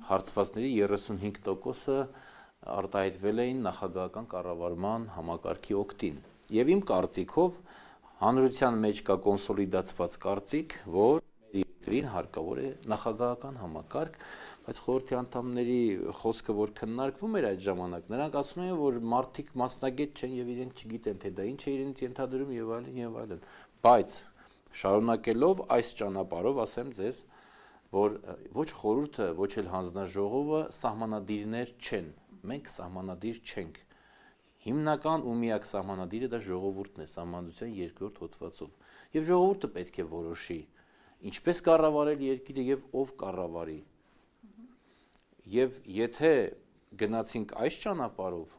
հարցվածների 35%-ը արտահայտվել էին նախագահական կառավարման համակարգի օգտին։ Եվ իմ կարծիքով հանրության մեջ կա կոնսոլիդացված կարծիք, որ մեր երկրին հարկավոր է նախագահական համակարգ, բայց խորհրդի անդամների խոսքը որ քննարկվում էր այդ ժամանակ, նրանք ասում են, որ մարդիկ մասնագետ չեն եւ իրենք չգիտեն, թե դա ինչ է իրենց ենթադրում եւ այլն եւ այլն։ Բայց շարունակելով այս ճանապարհով ասեմ ձեզ, որ ոչ խորհուրդը, ոչ էլ հանձնաժողովը սահմանադիրներ չեն։ Մենք սահմանադիր չենք։ Հիմնական ու միակ սահմանադիրը դա ժողովուրդն է, սահմանադրության 2-րդ հոդվածով։ Եվ ժողովուրդը պետք է որոշի ինչպես կառավարել երկիրը եւ ով կառավարի։ Եվ եթե գնացինք այս ճանապարհով,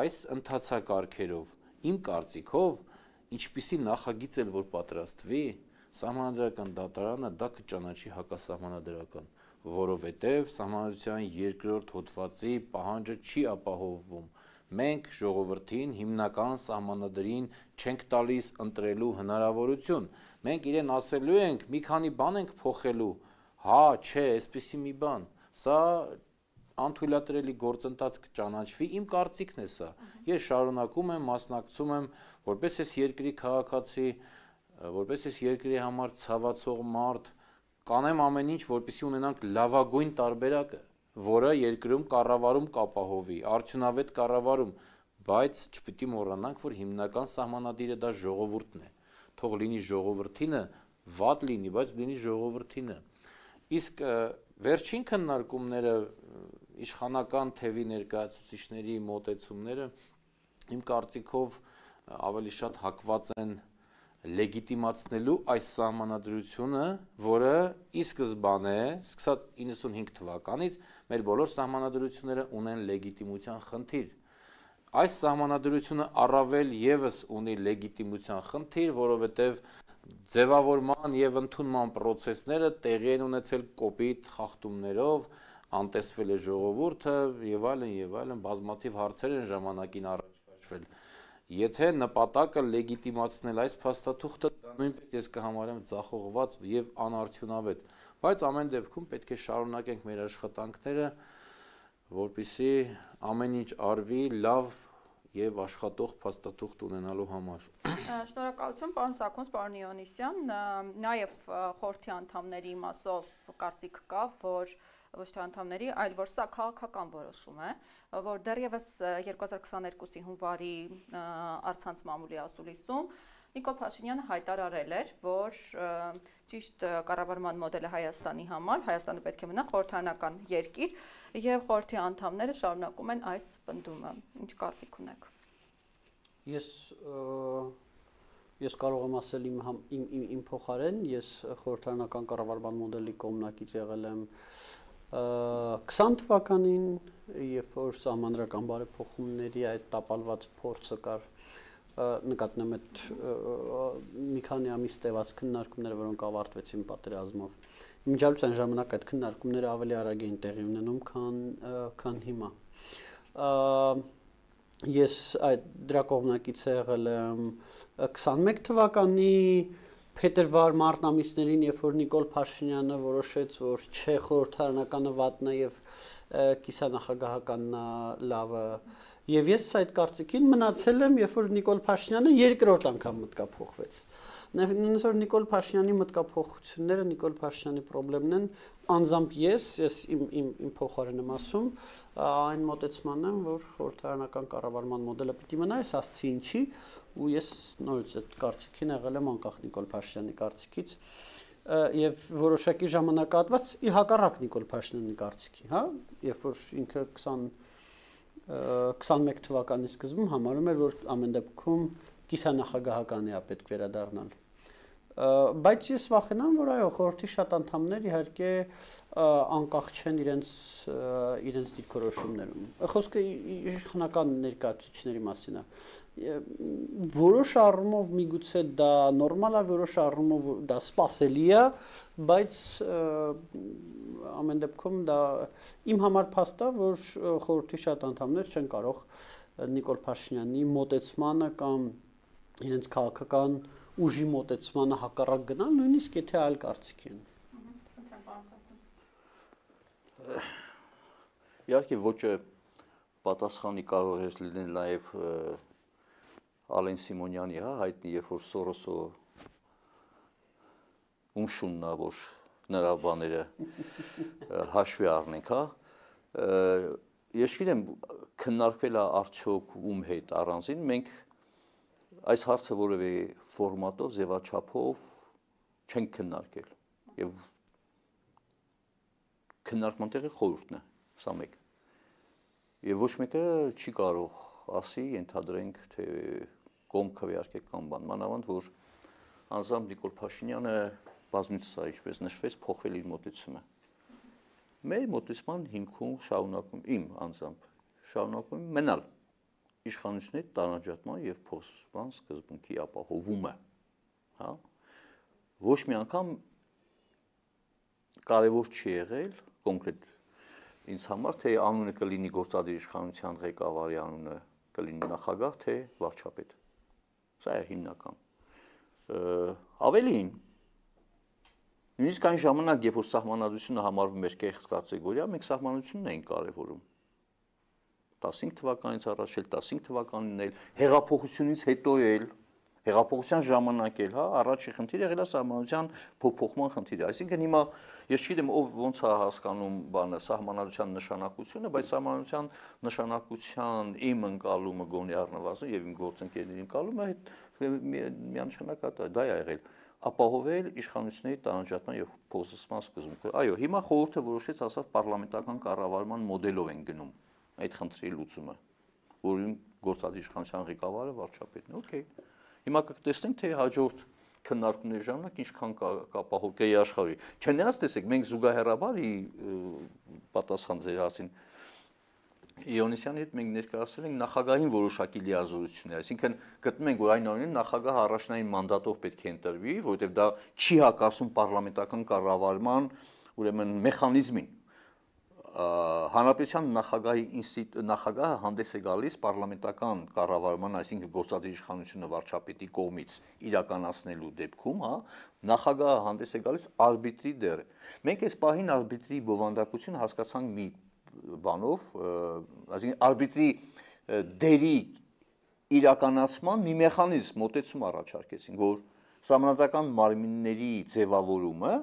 այս ընթացակարգերով, իմ կարծիքով, ինչպիսի նախագիծ էլ որ պատրաստվի, սահմանադրական դատարանը դա կճանաչի հակասահմանադրական, որովհետև սահմանադրության 2-րդ հոդվածի պահանջը չի ապահովվում։ Մենք ժողովրդին հիմնական սահմանադրին չենք տալիս ընտրելու հնարավորություն։ Մենք իրեն ասելու ենք, մի քանի բան ենք փոխելու, հա, չէ, այսպիսի մի բան։ Սա անթույլատրելի գործընթաց կճանաչվի, իմ կարծիքն է սա։ Ես շարունակում եմ, մասնակցում եմ, որպես ես երկրի քաղաքացի, որպես ես երկրի համար ցավացող մարդ, կանեմ ամեն ինչ, որպեսզի ունենանք լավագույն տարբերակը, որը երկրում կառավարում կապահովի, արդյունավետ կառավարում, բայց չպիտի մոռանանք, որ հիմնական սահմանադիրը դա ժողովուրդն է։ Թող լինի ժողովրդինը, վատ լինի, բայց լինի ժողովրդինը։ Իսկ վերջին քննարկումները իշխանական թևի ներկայացուցիչների մոտեցումները իմ կարծիքով ավելի շատ հակված են լեգիտիմացնելու այս սահմանադրությունը, որը ի սկզբանե, սկսած 95 թվականից, մեր բոլոր սահմանադրությունները ունեն լեգիտիմության խնդիր։ Այս սահմանադրությունը առավել եւս ունի լեգիտիմության խնդիր, որովհետեւ ձևավորման եւ ընդունման process-ները տեղի են ունեցել կոպիտ խախտումներով, անտեսվել է ժողովուրդը եւ այլն, բազմաթիվ հարցեր են ժամանակին առաջ քաշվել։ Եթե նպատակը լեգիտիմացնել այս փաստաթուղթը, դա նույնպես ես կհամարեմ ձախողված եւ անարդյունավետ, բայց ամեն դեպքում պետք է շարունակենք մեր աշխատանքները, որպեսզի ամեն ինչ արվի լավ եւ աշխատող փաստաթուղթ ունենալու համար։ Շնորհակալություն, պարոն Սաքոնց, պարոն Իոնիսյան, նաեւ խորհրդի անդամների մասով կարծիք կա, որ ոչ թե անդամների, այլ որ սա քաղաքական որոշում է, որ դեռևս 2022-ի հունվարի առցանց մամուլի ասուլիսում Նիկոլ Փաշինյանը հայտարարել էր, որ ճիշտ կառավարման մոդելը Հայաստանի համար, Հայաստանը պետք է մնա խորհրդարանական երկիր, եւ խորհրդի անդամները շարունակում են այս պնդումը։ Ինչ կարծիք ունեք։ Ես կարող եմ ասել իմ փոխարեն, ես խորհրդարանական կառավարման մոդելի կողմնակից եղել եմ 20 թվականին, երբ որ սահմանադրական բարեփոխումների այդ տապալված փորձը կար, նկատնում այդ մի քանի ամիս տևած քննարկումները, որոնք ավարտվեցին պատերազմով։ Մինչև այն ժամանակ այդ քննարկումները ավելի արագ էին տեղի ունենում, քան հիմա։ Ես այդ դրա կողմնակից եղել եմ 21 թվականի փետրվար-մարտ ամիսներին, երբ որ Նիկոլ Փաշինյանը որոշեց, որ չէ խորհրդարանականը վատն է եւ կիսանախագահականն է լավը, եւ ես այդ կարծիքին մնացել եմ, երբ որ Նիկոլ Փաշինյանը երկրորդ անգամ մտկափոխվեց։ Նույնիսկ որ Նիկոլ Փաշինյանի մտկափոխությունները Նիկոլ Փաշինյանի խնդիրներն են, անձամբ ես իմ փոխարեն եմ ասում, այն մոտեցմանն եմ, որ խորհրդարանական կառավարման մոդելը պիտի մնա, այս ասցի ինչի, ու ես նորից այդ կարծիքին եղել եմ անկախ Նիկոլ Փաշինյանի կարծիքից եւ որոշակի ժամանակահատված ի հակառակ Նիկոլ Փաշինյանի կարծիքի, հա, երբ որ ինքը 21 թվականի սկզբում համարում էր, որ ամեն դեպքում կիսանախագահական է պետք վերադառնալ։ Բայց ես վախենամ, որ այո, խորհրդի շատ անդամներ իհարկե անկախ չեն իրենց դիրքորոշումներում։ Խոսքը իշխանական ներկայացուցիչների մասին է։ Որոշ առումով միգուցե դա նորմալ է, որոշ առումով դա սպասելի է, բայց ամեն դեպքում դա իմ համար փաստ է, որ խորհրդի շատ անդամներ չեն կարող Նիկոլ Փաշինյանի մոտեցմանը կամ իրենց քաղաքական ուժի մոտեցմանը հակառակ գնալ, նույնիսկ եթե այլ կարծիք են։ Իհարկե ոճը պատասխանի կարող էր լինել նաև Ալեն Սիմոնյանի, հա, հայտնի, երբ որ Սորոսը ումշունն է, որ նրա բաները հաշվի առնենք, հա։ Ես գիտեմ, քննարկվել է արդյոք ում հետ առանձին, մենք այս հարցը որևէ ֆորմատով, ձևաչափով չենք քննարկել եւ քննարկման տեղը խորհուրդն է, սա մեկ։ Եվ ոչ մեկը չի կարող ասի, ենթադրենք, թե կողմ քվեարկեք կամ բան, մանավանդ որ անձամբ Նիկոլ Փաշինյանը բազմիցս է, ինչպես նշվեց, փոխվել իր մոտեցումը։ Մեր մոտեցման հիմքում շարունակում իմ անձամբ շարունակում մնալ իշխանությունների տարանջատման եւ փոխսպան սկզբունքի ապահովումը, հա։ Ոչ մի անգամ կարևոր չի եղել կոնկրետ ինձ համար, թե անունը կլինի գործադիր իշխանության ղեկավարի անունը կլինի նախագահ, թե վարչապետ։ Սա է հիմնական։ Ավելին, նույնիսկ այն ժամանակ, երբ որ սահմանադրությունը համարվում էր կեղծ կատեգորիա, մենք սահմանությունն էինք կարևորում։ 15 թվականից առաջ էլ, 15 թվականին էլ, հեղափոխությունից հետո էլ, հեղափոխության ժամանակ էլ, հա, առաջի խնդիրը եղել է սահմանության փոփոխման խնդիրը։ Այսինքն հիմա ես չգիտեմ ով ոնց է հասկանում բանը սահմանադրության նշանակությունը, բայց սահմանադրության նշանակության իմ ընկալումը գոնե առնվազն եւ իմ գործընկերների ընկալումը միանշանակ դա է եղել ապահովել իշխանությունների տարանջատման եւ փոխսպան սկզբունքը։ Այո, հիմա խորհուրդը որոշեց, ասավ պարլամենտական կառավարման մոդելով են գնում այդ խնդրի լուծումը, որին գործադիր իշխանության ղեկավարը վարչապետն է։ Okay։ Հիմա կտեսնենք, թե հաջորդ քննարկումների ժամանակ ինչքան կապահով կեի աշխարհի։ Չնայած տեսեք, մենք զուգահեռաբար պատասխան ձեր հարցին Իոնիսյանի հետ մենք ներկայացրել ենք նախագահին որոշակի լիազորություններ, այսինքն գտնում ենք, որ այն անունին նախագահը առաջնային մանդատով պետք է ընտրվի, որովհետև դա չի հակասում պարլամենտական կառավարման, ուրեմն մեխանիզմին։ Հանրապետության նախագահը հանդես է գալիս պարլամենտական կառավարման, այսինքն գործադիր իշխանությունը վարչապետի կողմից իրականացնելու դեպքում, հա, նախագահը հանդես է գալիս արբիտրի դեր։ Մենք այս պահին արբիտրի բովանդակությունը հասկացանք մի բանով, այսինքն արբիտրի դերի իրականացման մի մեխանիզմ մոտեցում առաջարկեցինք, որ սահմանադրական մարմինների ձևավորումը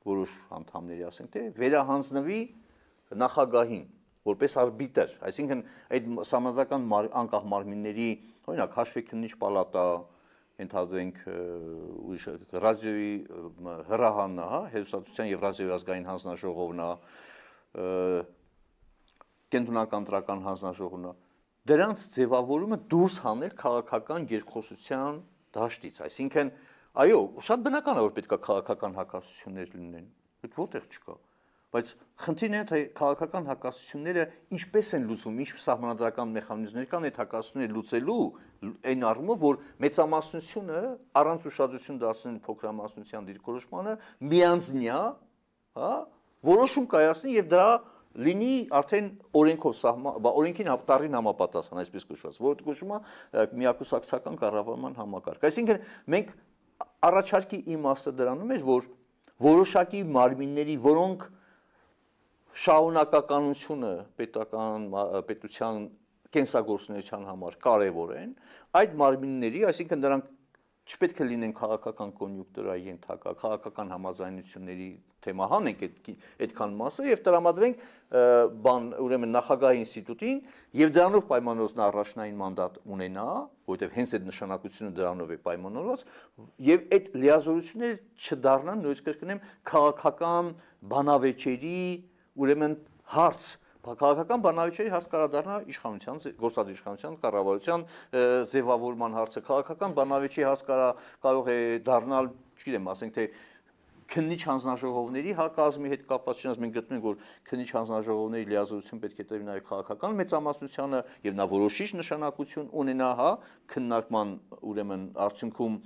որոշ անդամների ասենք թե վերահանձնվի նախագահին որպես արբիտր, այսինքն այդ սահմանադրական անկախ մարմինների, օրինակ հաշվեկնիչ պալատա, ենթադրենք ռադիոյի հրահանն է, հա, հեռուստատեսության եւ ռադիոյի ազգային հանձնաժողովն է, կենտրոնական ընտրական հանձնաժողովն է, դրանց ձևավորումը դուրս հանել քաղաքական երկխոսության դաշտից, այսինքն այո, շատ բնական է, որ պետք է քաղաքական հակասություններ լինեն, այդ որտեղ չկա, բայց խնդիրն է, թե քաղաքական հակասությունները ինչպես են լուծվում, ինչ սահմանադրական մեխանիզմներ կան այդ հակասությունները լուծելու այն առումով, որ մեծամասնությունը առանց ուշադրություն դարձնել փոքրամասնության դիրքորոշմանը միանձնյա, հա, որոշում կայացնի եւ դա լինի արդեն օրենքով օրենքին տարին համապատասխան, այսպես կոչված, որը կոչվում է միակուսակցական կառավարման համակարգ։ Այսինքն մենք առաջարկի իմաստը դրանում էր, որ որոշակի մարմինների, որոնք շահունակականությունը պետության կենսագործունեության համար կարևոր են, այդ մարմինների, այսինքն նրանք չպետք է լինեն քաղաքական կոնյունկտուրայի ենթակա, քաղաքական համաձայնությունների թեմա հանենք այդքան մասը եւ տրամադրենք ուրեմն նախագահի ինստիտուտին եւ դրանով պայմանավորված նա առաջնային մանդատ ունենա, որովհետեւ հենց այդ նշանակությունը դրանով է պայմանավորված եւ այդ լիազորությունները չդառնան նույնիսկ կրկնեմ քաղաքական բանավեճերի ուրեմն հարց Քաղաքական բանավեճերի հաս կարա դառնա իշխանության, գործադիր իշխանության կառավարության ձևավորման հարցը, քաղաքական բանավեճի հաս կարող է դառնալ, չգիտեմ, ասենք թե քննիչ հանձնաժողովների կազմի հետ կապված, չնայած մենք գտնում ենք, որ քննիչ հանձնաժողովների լիազորություն պետք է տևի նաև քաղաքական մեծամասնությանը եւ նա որոշիչ նշանակություն ունենա, քննարկման ուրեմն արդյունքում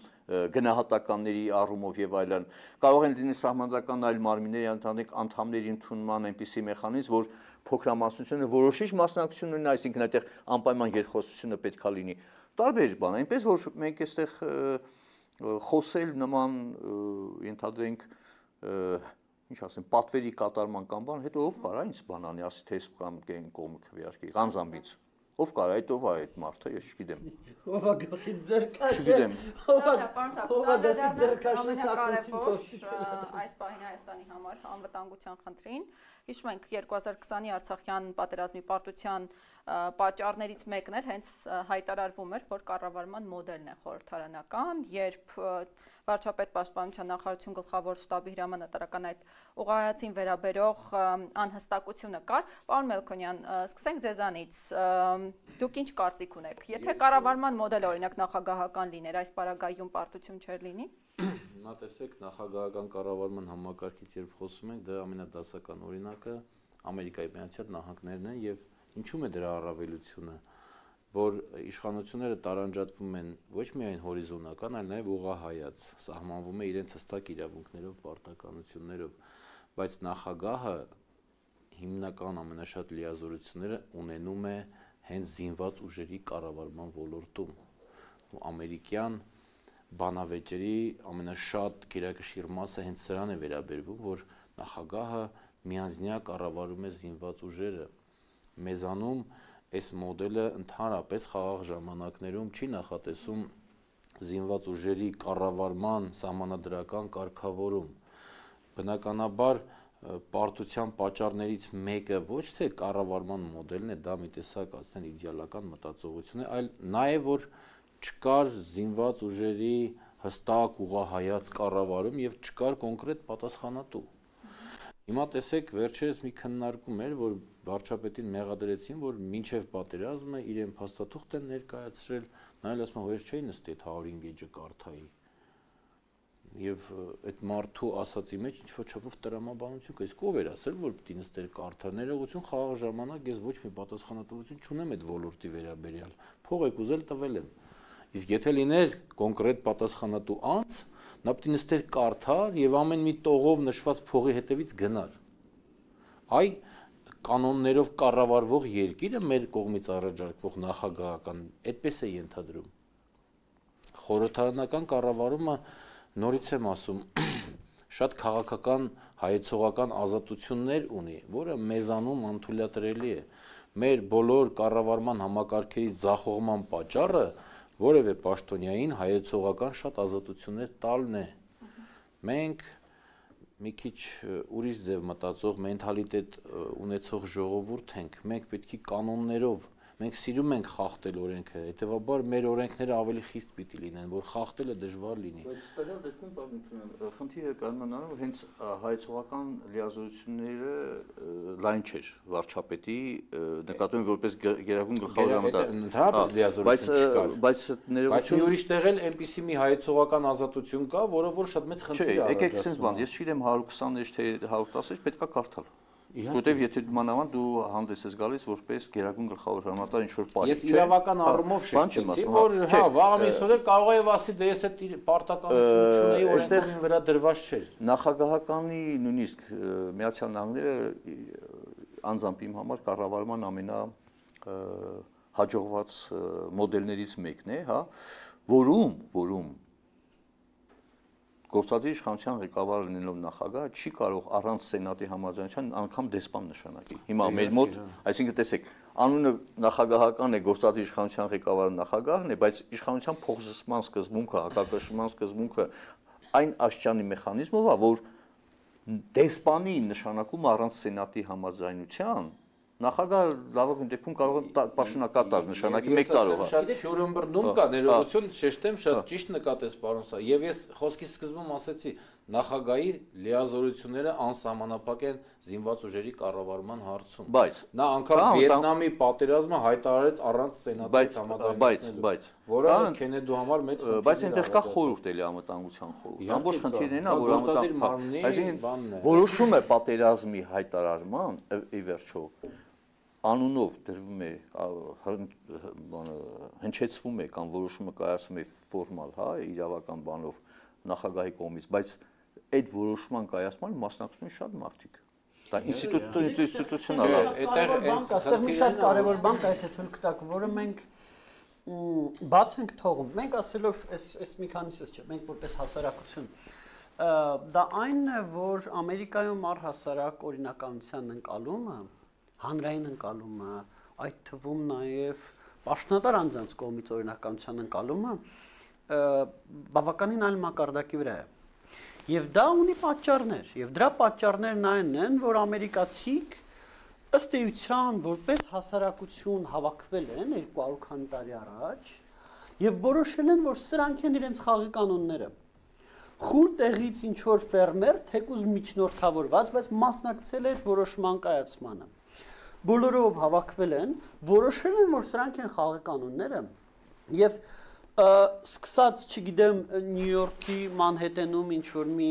գնահատականների առումով եւ այլն։ Կարող են լինել սահմանադրական այլ մարմինների անդամների ընդունման այնպիսի մեխանիզմ, որ փոքրամասնությունը որոշիչ մասնակցություն ունենա, այսինքն այդտեղ անպայման երկխոսությունը պետքա լինի։ Տարբեր բան, այնպես որ մենք այստեղ խոսել նման ենթադրենք ինչ ասեմ, պատվերի կատարման կամ բան, հետո ով կարա ինձ բան անի, ասի թե կամ կեն կողմը քվեարկի, Ղանզամբից։ Ով կարա, այդ ով է այդ մարդը, ես չգիտեմ։ Ով է գլխի ձեռքաշը։ Չգիտեմ։ Այս պահին Հայաստանի համար անվտանգության խնդրին։ Հիշում ենք 2020-ի Արցախյան պատերազմի պարտության պատճառներից մեկն էլ հենց հայտարարվում էր, որ կառավարման մոդելն է խորհրդարանական, երբ վարչապետ պաշտպանության նախարարություն գլխավոր շտաբի հրամանատարական այդ ուղղահայացին վերաբերող անհստակությունը կար։ Պարոն Մելքոնյան, սկսենք ձեզանից։ Դուք ինչ կարծիք ունեք։ Եթե կառավարման մոդելը օրինակ նախագահական լիներ, այս պարագայում պարտություն չէր լինի։ Հիմա տեսեք, նախագահական կառավարման համակարգից երբ խոսում ենք, դա ամենադասական օրինակը Ամերիկայի Միացյալ Նահանգներն են եւ ինչու՞մ է դրա առավելությունը, որ իշխանությունները տարանջատվում են ոչ միայն հորիզոնական, այլ նաև ուղղահայաց, սահմանվում է իրենց հստակ իրավունքներով, պարտականություններով, բայց նախագահը հիմնական ամենաշատ լիազորությունները ունենում է հենց զինված ուժերի կառավարման ոլորտում։ Ամերիկյան բանավեճերի ամենաշատ գերակշիռ մասը հենց սրան է վերաբերվում, որ նախագահը միանձնյա կառավարում է զինված ուժերը։ Մեզանում այս մոդելը ընդհանրապես խաղաղ ժամանակներում չի նախատեսում զինված ուժերի կառավարման սահմանադրական կարգավորում։ Բնականաբար պարտության պատճառներից մեկը ոչ թե կառավարման մոդելն է, դա մի տեսակ ասեն իդեալական մտածողություն է, այլ նաև որ չկար զինված ուժերի հստակ ուղղահայաց կառավարում եւ չկար կոնկրետ պատասխանատու։ Հիմա տեսեք, վերջերս մի քննարկում էր, որ վարչապետին մեղադրեցին, որ մինչև պատերազմը իրեն փաստաթուղթ են ներկայացրել, նայել ասում են, որ չէի նստի այդ 105 էջը կարդայի։ Եվ այդ մարդու ասացի մեջ ինչ-որ չափով տրամաբանություն կա, իսկ ով էր ասել, որ պիտի նստեր կարդա, ներողություն խաղաղ ժամանակ ես ոչ մի պատասխանատվություն չունեմ այդ ոլորտի վերաբերյալ, փող եք ուզել տվել եմ։ Իսկ եթե լիներ կոնկրետ պատասխանատու անձ, նա պիտի նստեր կարդար եւ ամեն մի տողով նշված փողի հետևից գնար։ Այ կանոններով կառավարվող երկիրը մեր կողմից առաջարկվող նախագահական այդպես է ենթադրում։ Խորհրդարանական կառավարումը նորից եմ ասում, շատ քաղաքական հայեցողական ազատություններ ունի, որը մեզանում անթույլատրելի է։ Մեր բոլոր կառավարման համակարգերի ձախողման պատճառը որևէ պաշտոնյային հայեցողական շատ ազատություններ տալն է։ Մենք մի քիչ ուրիշ ձև մտածող մենթալիտետ ունեցող ժողովուրդ ենք, մենք պետք է կանոններով, մենք սիրում ենք խախտել օրենքը, հետեւաբար մեր օրենքները ավելի խիստ պիտի լինեն, որ խախտելը դժվար լինի։ Բայց ստեղալ դեպքում խնդիրը կանոնանալու որ հենց հայեցողական լիազորությունները լայն չէր վարչապետի նկատում որպես գերագույն գլխավոր ընդհանրապես լիազորություն չկար։ Բայց մի ուրիշ տեղ էլ այնպիսի մի հայեցողական ազատություն կա, որը որ շատ մեծ խնդիր է առաջացնում։ Եկեք sense բան, ես չգիտեմ 120-ից թե 110-ից պետքա կարդալ։ Որտեվ եթե մանավանդ դու հանդես ես գալիս որպես գերագույն գլխավոր հրամանատար ինչ-որ պարի։ Ես իրավական առումով շեշտեցի, որ հա, վաղ ամիսօրը կարող է ասի, դե ես այդ պարտականություն չունեի, օրենքին վրա դրված չէր։ Նախագահականի նույնիսկ Միացյալ Նահանգները անձամբ իմ համար կառավարման ամենա հաջողված մոդելներից մեկն է, հա, որում գործադիր իշխանության ղեկավարը լինելով նախագահը չի կարող առանց սենատի համաձայնության անգամ դեսպան նշանակի։ Հիմա մեր մոտ, այսինքն տեսեք, անունը նախագահական է, գործադիր իշխանության ղեկավարը նախագահն է, բայց իշխանության փոխզսման սկզբունքը, հակակշռման սկզբունքը այն աշճանի մեխանիզմով է, որ դեսպանի նշանակում առանց սենատի համաձայնության նախագահը լավագույն դեպքում կարող է պաշտոնակատար նշանակի 1 տարով։ Շատ Ֆյուրենբերգում կա ներողություն, շեշտեմ, շատ ճիշտ նկատեց պարոն սա։ Եվ ես խոսքի սկզբում ասացի, նախագահի լիազորությունները անսահմանափակ են զինված ուժերի կառավարման հարցում։ Բայց նա անգամ Վիետնամի պատերազմը հայտարարեց առանց սենատի համաձայնությունից, որը Քենեդու համար մեծ խնդիր է։ Բայց այնտեղ կա խորհուրդ էլի անվտանգության խորհուրդ։ Ամբողջ խնդիրն է նա, որ անվտանգ որոշում է պատերազմի հայտարարման ի վերջո անունով դրվում է հնչեցվում է կամ որոշումը կայացվում է ֆորմալ, հա, իրավական բանով նախագահի կողմից, բայց այդ որոշման կայացման մասնակցում են շատ մարդիկ։ Դա ինստիտուցիոնալ է։ Այստեղ մի շատ կարևոր բան կա, եթե ցույց կտակ, որը մենք բաց ենք թողում։ Մենք ասելով այս մի քանիսից չէ, մենք որպես հասարակություն դա այնն է, որ Ամերիկայում առհասարակ օրինականության ընկալումը, հանրային ընկալումը, այդ թվում նաև պաշտոնատար անձանց կողմից օրինականության ընկալումը բավականին այլ մակարդակի վրա է։ Եվ դա ունի պատճառներ, եւ դրա պատճառներն այն են, որ ամերիկացիք ըստ էության որպես հասարակություն հավաքվել են 200 քանի տարի առաջ եւ որոշել են, որ սրանք են իրենց խաղի կանոնները։ Խուլ տեղից ինչ որ ֆերմեր, թեկուզ միջնորդավորված, բայց մասնակցել է այդ որոշման կայացմանը։ Բոլորով հավաքվել են, որոշել են, որ սրանք են խաղի կանոնները եւ սկսած, չգիտեմ, Նյու Յորքի Մանհեթենում ինչ որ մի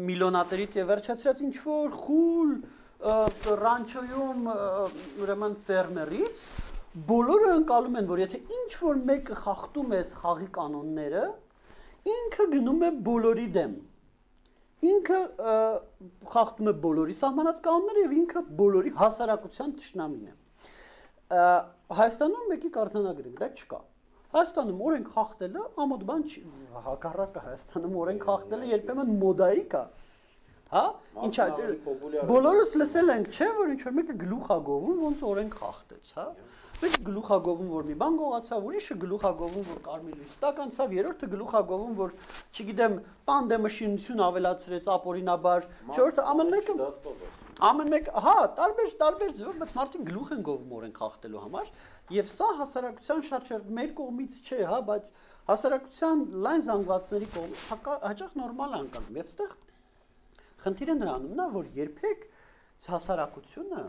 միլիոնատերից եւ վերջացրած ինչ որ խուլ ռանչոյում ուրեմն ֆերմերից բոլորը ընկալում են, որ եթե ինչ որ մեկը խախտում է խաղի կանոնները, ինքը գնում է բոլորի դեմ։ Ինքը խախտում է բոլորի սահմանած կանոնները եւ ինքը բոլորի հասարակության թշնամին է։ Հայաստանում մեկի կարտանագրի դա չկա։ Հայաստանում օրենք խախտելը ամոթ բան չի, հակառակը Հայաստանում օրենք խախտելը երբեմն մոդայի կա։ Հա? Ինչ է, բոլորս լսել ենք, չէ, որ ինչ որ մեկը գլուխագովում ոնց օրենք խախտեց, հա։ Մեկը գլուխագովում որ մի բան գողացավ, ուրիշը գլուխագովում որ կարմիր լույս տակ անցավ, երրորդը գլուխագովում որ, չգիտեմ, պանդեմշինություն ավելացրեց ապօրինաբար, չորրորդը ամեն մեկ, հա, տարբեր ձևով, բայց մարդիկ գլուխ են գովում օրենք խախտելու համար, եւ սա հասարակության շատ մեր կողմից չէ, հա, բայց հասարակության լայն զանգվածների կողմից հաճախ նորմալ է անցնում։ Եվ այստեղ խնդիրը նրանում նա, որ երբեք հասարակությունը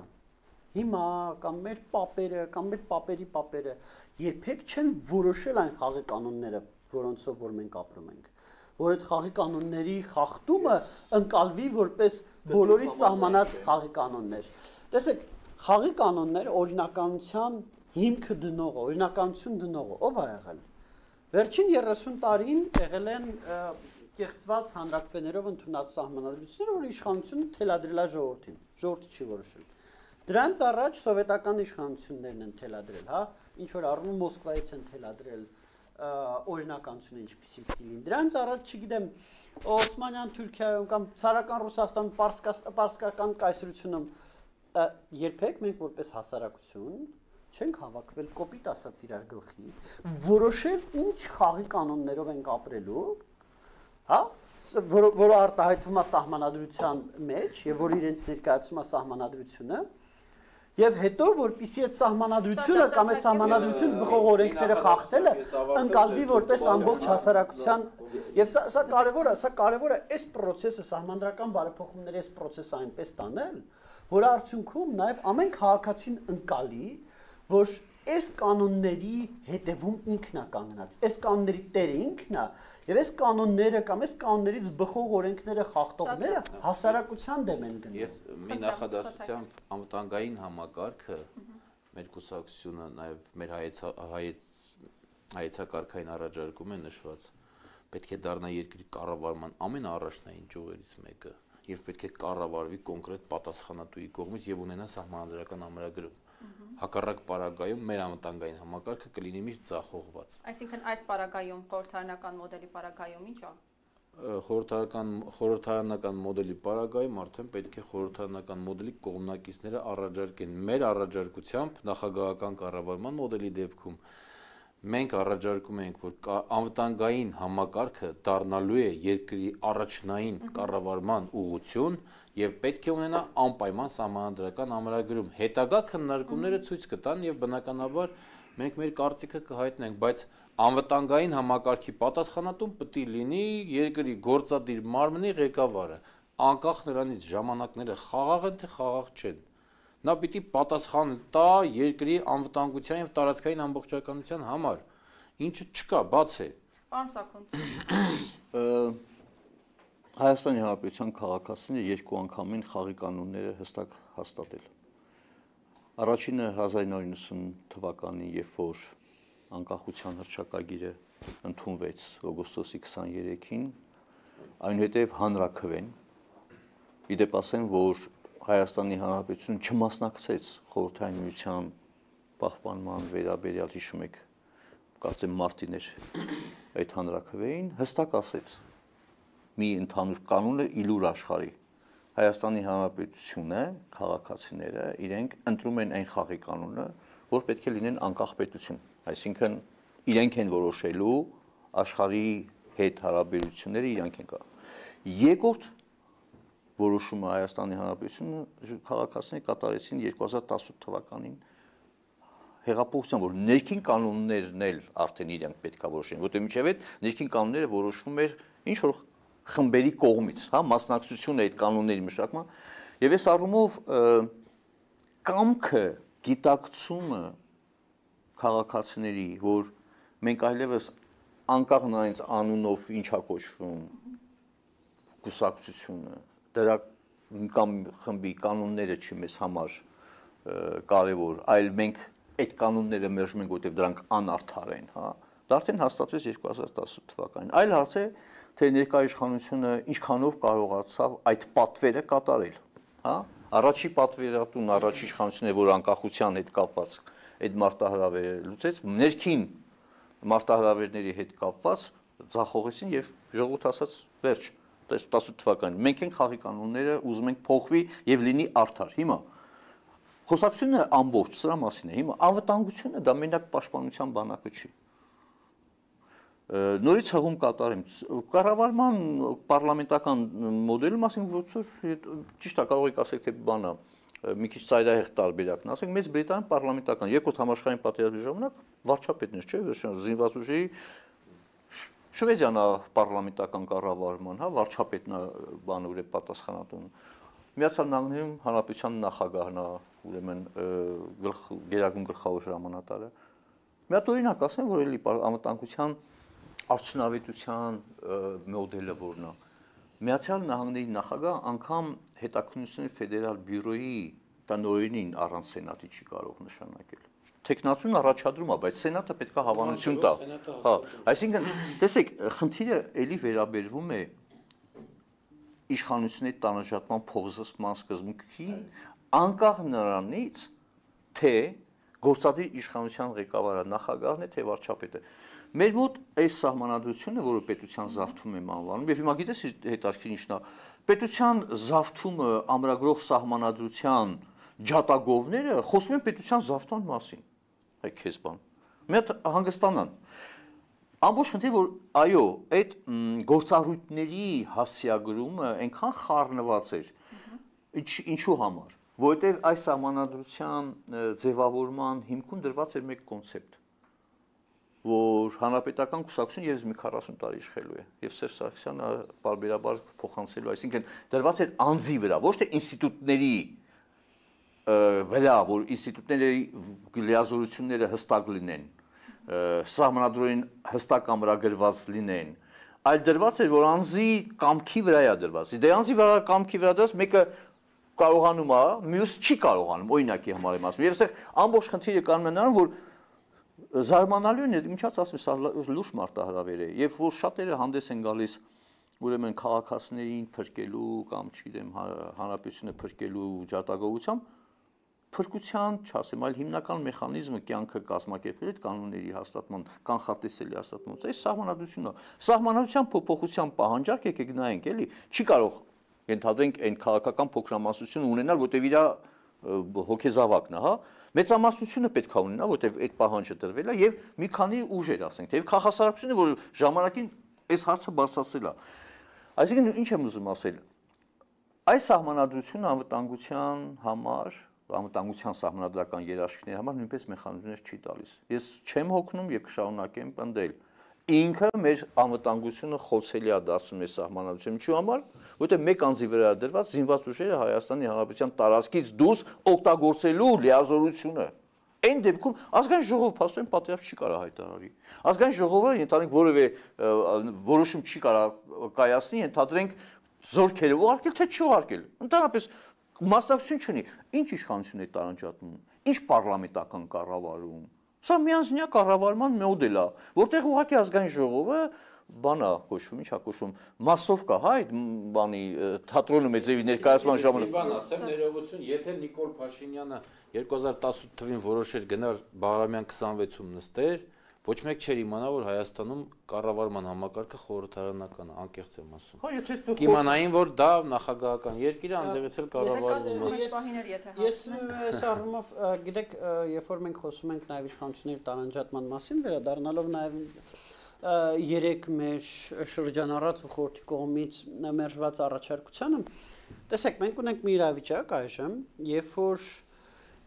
հիմա կամ մեր պապերը կամ մեր պապերի պապերը երբեք չեն որոշել այն խաղի կանոնները, որոնցով որ մենք ապրում ենք, որ այդ խաղի կանոնների խախտումը ընկալվի որպես բոլորի սահմանած խաղի կանոններ։ Տեսեք, խաղի կանոնները օրինականության հիմքը դնողը, օրինականություն դնողը ով է եղել։ Վերջին 30 տարին եղել են կեղծված հանրակրվեներով ընդունած սահմանադրությունները, որ իշխանությունը թելադրել է ժողովրդին, ժողովուրդը չի որոշել։ Դրանց առաջ սովետական իշխանություններն են թելադրել, հա, ինչ որ առնում Մոսկվայից են թելադրել օրինականությունը ինչպիսին պիտի լինի։ Դրանց առաջ, չգիտեմ, Օսմանյան Թուրքիայում կամ ցարական Ռուսաստանում, պարսկական կայսրությունում երբեք մենք որպես հասարակություն չենք հավաքվել կոպիտ ասած իրար գլխի, որոշել ինչ խաղի կանոններով ենք ապրելու, հա, որը արտահայտվում է սահմանադրության մեջ եւ որ իրենց ներկայացում է սահմանադրությունը եւ հետո որպիսի այդ սահմանադրությունը կամ այդ սահմանադրությունից բխող օրենքները խախտելը ընկալվի որպես ամբողջ հասարակության եւ սա կարեւոր է այս process-ը սահմանադրական բարեփոխումների այս process-ը այնպես տանել, որ արդյունքում նաեւ ամեն քաղաքացին ընկալի, որ այս կանոնների հետևում ինքն է կանգնած, այս կանոնների տերը ինքն է եւ այս կանոնները կամ այս կանոններից բխող օրենքները խախտողները հասարակության դեմ են գնում։ Ես մի նախադասությամբ անվտանգային համակարգը մեր կուսակցությունը նաեւ մեր հայեցակարգային առաջարկում է նշված պետք է դառնա երկրի կառավարման ամենաառաջնային ճյուղերից մեկը եւ պետք է կառավարվի կոնկրետ պատասխանատուի կողմից եւ ունենա սահմանադրական ամրագրում։ Հակառակ պարագայում մեր անվտանգային համակարգը կլինի միշտ ձախողված։ Այսինքն այս պարագայում խորհրդարանական մոդելի պարագայում ինչ է։ Խորհրդարանական մոդելի պարագայում արդեն պետք է խորհրդարանական մոդելի կողմնակիցները առաջարկեն մեր առաջարկությամբ նախագահական կառավարման մոդելի դեպքում մենք առաջարկում ենք, որ անվտանգային համակարգը դառնալու է երկրի առաջնային կառավարման ուղղություն եւ պետք է ունենա անպայման սահմանադրական ամրագրում։ Հետագա քննարկումները ցույց կտան եւ բնականաբար մենք մեր կարծիքը կհայտնենք, բայց անվտանգային համակարգի պատասխանատուն պետք է լինի երկրի գործադիր մարմնի ղեկավարը, անկախ նրանից ժամանակները խաղաղ են թե խաղաղ չեն։ Նա պիտի պատասխան տա երկրի անվտանգության եւ տարածքային ամբողջականության համար, ինչը չկա, բաց է։ Պարոն Սաքուն։ Հայաստանի Հանրապետության քաղաքացիները երկու անգամին խաղի կանոնները հստակ հաստատել։ Առաջինը 1990 թվականին, երբ որ անկախության հռչակագիրը ընդունվեց օգոստոսի 23-ին, այնուհետև հանրաքվեն։ Իդեպ ասեմ, որ Հայաստանի Հանրապետությունը չմասնակցեց Խորհրդային Միության պահպանման վերաբերյալ, հիշում եք, կարծեմ մարտին էր այդ հանրաքվեին, հստակ ասեց մի ընդհանուր կանոն է իլուր աշխարհի։ Հայաստանի Հանրապետությունը, քաղաքացիները իրենք ընտրում են այն խաղի կանոնը, որ պետք է լինեն անկախ պետություն, այսինքն իրենք են որոշելու աշխարհի հետ հարաբերությունները իրենք են կա։ Երկրորդ որոշումը Հայաստանի Հանրապետությունը քաղաքացիները կատարեցին 2018 թվականին հեղափոխության, որ ներքին կանոններն էլ արդեն իրենք պետքա որոշեն, որտեղ մինչև այդ ներքին կանոնները որոշվում էր ինչ որ խմբերի կողմից, հա, մասնակցությունը այդ կանոնների մշակման, եւ այս առումով կամքը, գիտակցումը քաղաքացիների, որ մենք այլևս անկախ նրանից անունով ինչա կոչվում կուսակցությունը, դրա կամ խմբի կանոնները չի մեզ համար կարևոր, այլ մենք այդ կանոնները մերժում ենք, որտեղ դրանք անարդար են, հա, դա արդեն հաստատվեց 2018 թվականին։ Այլ հարց է, թե ներկայ իշխանությունը ինչքանով կարողացավ այդ պատվերը կատարել, հա, առաջի պատվերատուն, առաջի իշխանությունը, որ անկախության հետ կապված այդ մարտահրավերը լուծեց, ներքին մարտահրավերների հետ կապված ձախողեցին եւ ժողովուրդ ասաց վերջ 18 թվականին մենք ենք խաղի կանոնները ուզում ենք փոխվի եւ լինի արդար։ Հիմա խոսակցությունը ամբողջ սրա մասին է։ Հիմա անվտանգությունը դա մենակ պաշտպանության բանակը չի։ Նորից հղում կատարեմ կառավարման պարլամենտական մոդելը մասին ոչ ճիշտ է կարող եք ասեք թե բանա մի քիչ ծայրահեղ տարբերակն ասենք մեծ Բրիտանիան պարլամենտական երկրորդ համաշխարհային պատերազմի ժամանակ վարչապետն էր, չէ՞, զինված ուժերի Շվեդիան է պարլամենտական կառավարման, հա, վարչապետն է բանուր է պատասխանատուն։ Միացյալ Նահանգներում հանրապետության նախագահն է, ուրեմն գերագույն գլխավոր հրամանատարը։ Մի հատ օրինակ ասեմ, որ էլի անվտանգության արդյունավետության մոդելը որն է։ Միացյալ Նահանգների նախագահ անգամ հետաքննությունների ֆեդերալ բյուրոյի տնօրենին առանց սենատի չի կարող նշանակել։ Տեխնացուն առաջադրում է, բայց սենատը պետք է հավանություն տա։ Հա, այսինքն, տեսեք, խնդիրը էլի վերաբերվում է իշխանությունների տանջատման փոխզսման սկզբունքին, անկախ նրանից, թե գործադիր իշխանության ղեկավարը նախագահն է, թե վարչապետը։ Մեր մոտ այս սահմանադրությունը, որը պետության զավթում եմ անվանում, եւ հիմա գիտես հետաքրքիր ինչն է, պետության զավթումը ամրագրող սահմանադրության ջատագովները խոսում են պետության զավթման մասին։ Այ քեզ բան։ Մի հատ հանգստանան։ Ամբողջ խնդիրը որ այո, այդ գործառույթների հասցեագրումը այնքան խառնված էր։ Ինչու համար, որովհետև այս սահմանադրության ձևավորման հիմքում դրված էր մեկ կոնցեպտ, որ հանրապետական կուսակցությունը եւս մի 40 տարի իշխելու է, եւ Սերժ Սարգսյանը բարբերաբար փոխանցելու, այսինքն դրված էր անձի վրա, ոչ թե ինստիտուտների վրա, որ ինստիտուտների լիազորությունները հստակ լինեն, սահմանադրորեն հստակ ամրագրված լինեն, այլ դրված էր, որ անձի կամքի վրա է դրված։ Դե անձի վրա կամքի վրա դրած մեկը կարողանում է, մյուսը չի կարողանում, օրինակի համար եմ ասում։ Եվ այստեղ ամբողջ խնդիրը կանում է նրան, որ զարմանալու է, ինչած ասում, սա լուրջ մարտահրավեր է, եւ որ շատերը հանդես են գալիս ուրեմն քաղաքացիներին փրկելու կամ չգիտեմ հանրապետությունը փրկելու ջատագովությամբ փրկության չասեմ, այլ հիմնական մեխանիզմը կյանքը կազմակերպելու այդ կանոնների հաստատման, կանխատեսելի հաստատման, այս սահմանադրությունն է։ Սահմանադրության փոփոխության պահանջարկ եկեք նայենք, էլի, չի կարող ենթադրենք այն քաղաքական փոքրամասնությունը ունենալ, որտեղ իր հոգեզավակն է, հա։ Մեծամասնությունը պետք է ունենա, որտեղ այդ պահանջը տրվել է եւ մի քանի ուժեր, ասենք, թե քաղաքասարությունը, որ ժամանակին այս հարցը բարձրացրել է։ Այսինքն ինչ եմ ուզում ասել։ Այս սահմանադրությունը անվտանգության համար անվտանգության սահմանադրական երաշխիքների համար նույնպես մեխանիզմներ չի տալիս։ Ես չեմ հոգնում եւ կշարունակեմ պնդել։ Ինքը մեր անվտանգությունը խոցելի է դարձնում այս սահմանադրության ինչու համար, որովհետեւ մեկ անձի վրա դրված զինված ուժերը Հայաստանի Հանրապետության տարածքից դուրս օգտագործելու լիազորությունը։ Այն դեպքում ազգային ժողովը փաստորեն պատերազմ չի կարող հայտարարի։ Ազգային ժողովը ընդհանրիկ որևէ որոշում չի կարող կայացնի, ընդհանրենք զորքերը ուղարկել թե չուղարկել։ Ընդհանրապես մասնակցություն չունի։ Ինչ իշխանություն է տարանջատում, ինչ պարլամենտական կառավարում։ Սա միանձնյա կառավարման մոդել է, որտեղ ուղղակի ազգային ժողովը բանա կոչվում, ինչա կոչվում, մասովկա, հա, այդ բանի թատրոնը մեծեւի ներկայացման ժամանակ։ Բան ասեմ, ներողություն, եթե Նիկոլ Փաշինյանը 2018 թվին որոշեր գնալ Բաղրամյան 26-ում նստեր, ոչ մեկ չէր իմանա, որ Հայաստանում կառավարման համակարգը խորհրդարանական է, անկեղծ եմ ասում։ Հա, եթե Կիմանային, որ դա նախագահական երկիր է, այնտեղից էլ կառավարվում է։ Ես այս առումով, գիտեք, երբ որ մենք խոսում ենք նաև իշխանությունների տարանջատման մասին, վերադառնալով նաև երեք մեր շրջանառած ու խորհրդի կողմից մերժված առաջարկությանը, տեսեք, մենք ունենք մի իրավիճակ այժմ, երբ որ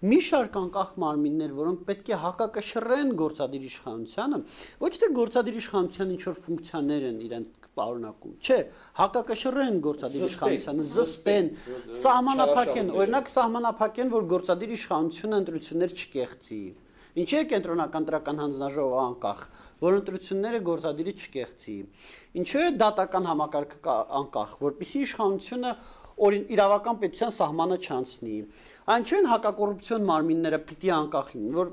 մի շարք անկախ մարմիններ, որոնք պետք է հակակշռեն գործադիր իշխանությանը, ոչ թե գործադիր իշխանության ինչ որ ֆունկցիաներ են իրենց պարունակում, չէ, հակակշռեն գործադիր իշխանությանը, զսպեն, սահմանափակեն, օրինակ սահմանափակեն, որ գործադիր իշխանությունը ընտրություններ չկեղծի։ Ինչի է կենտրոնական տրական հանձնաժողովը անկախ, որ ընտրությունները գործադիրի չկեղծի։ Ինչու է դատական համակարգը անկախ, որպեսզի իշխանությունը իրավական պետության սահմանը չանցնի։ Այնչու են հակակոռուպցիոն մարմինները պիտի անկախ լինեն,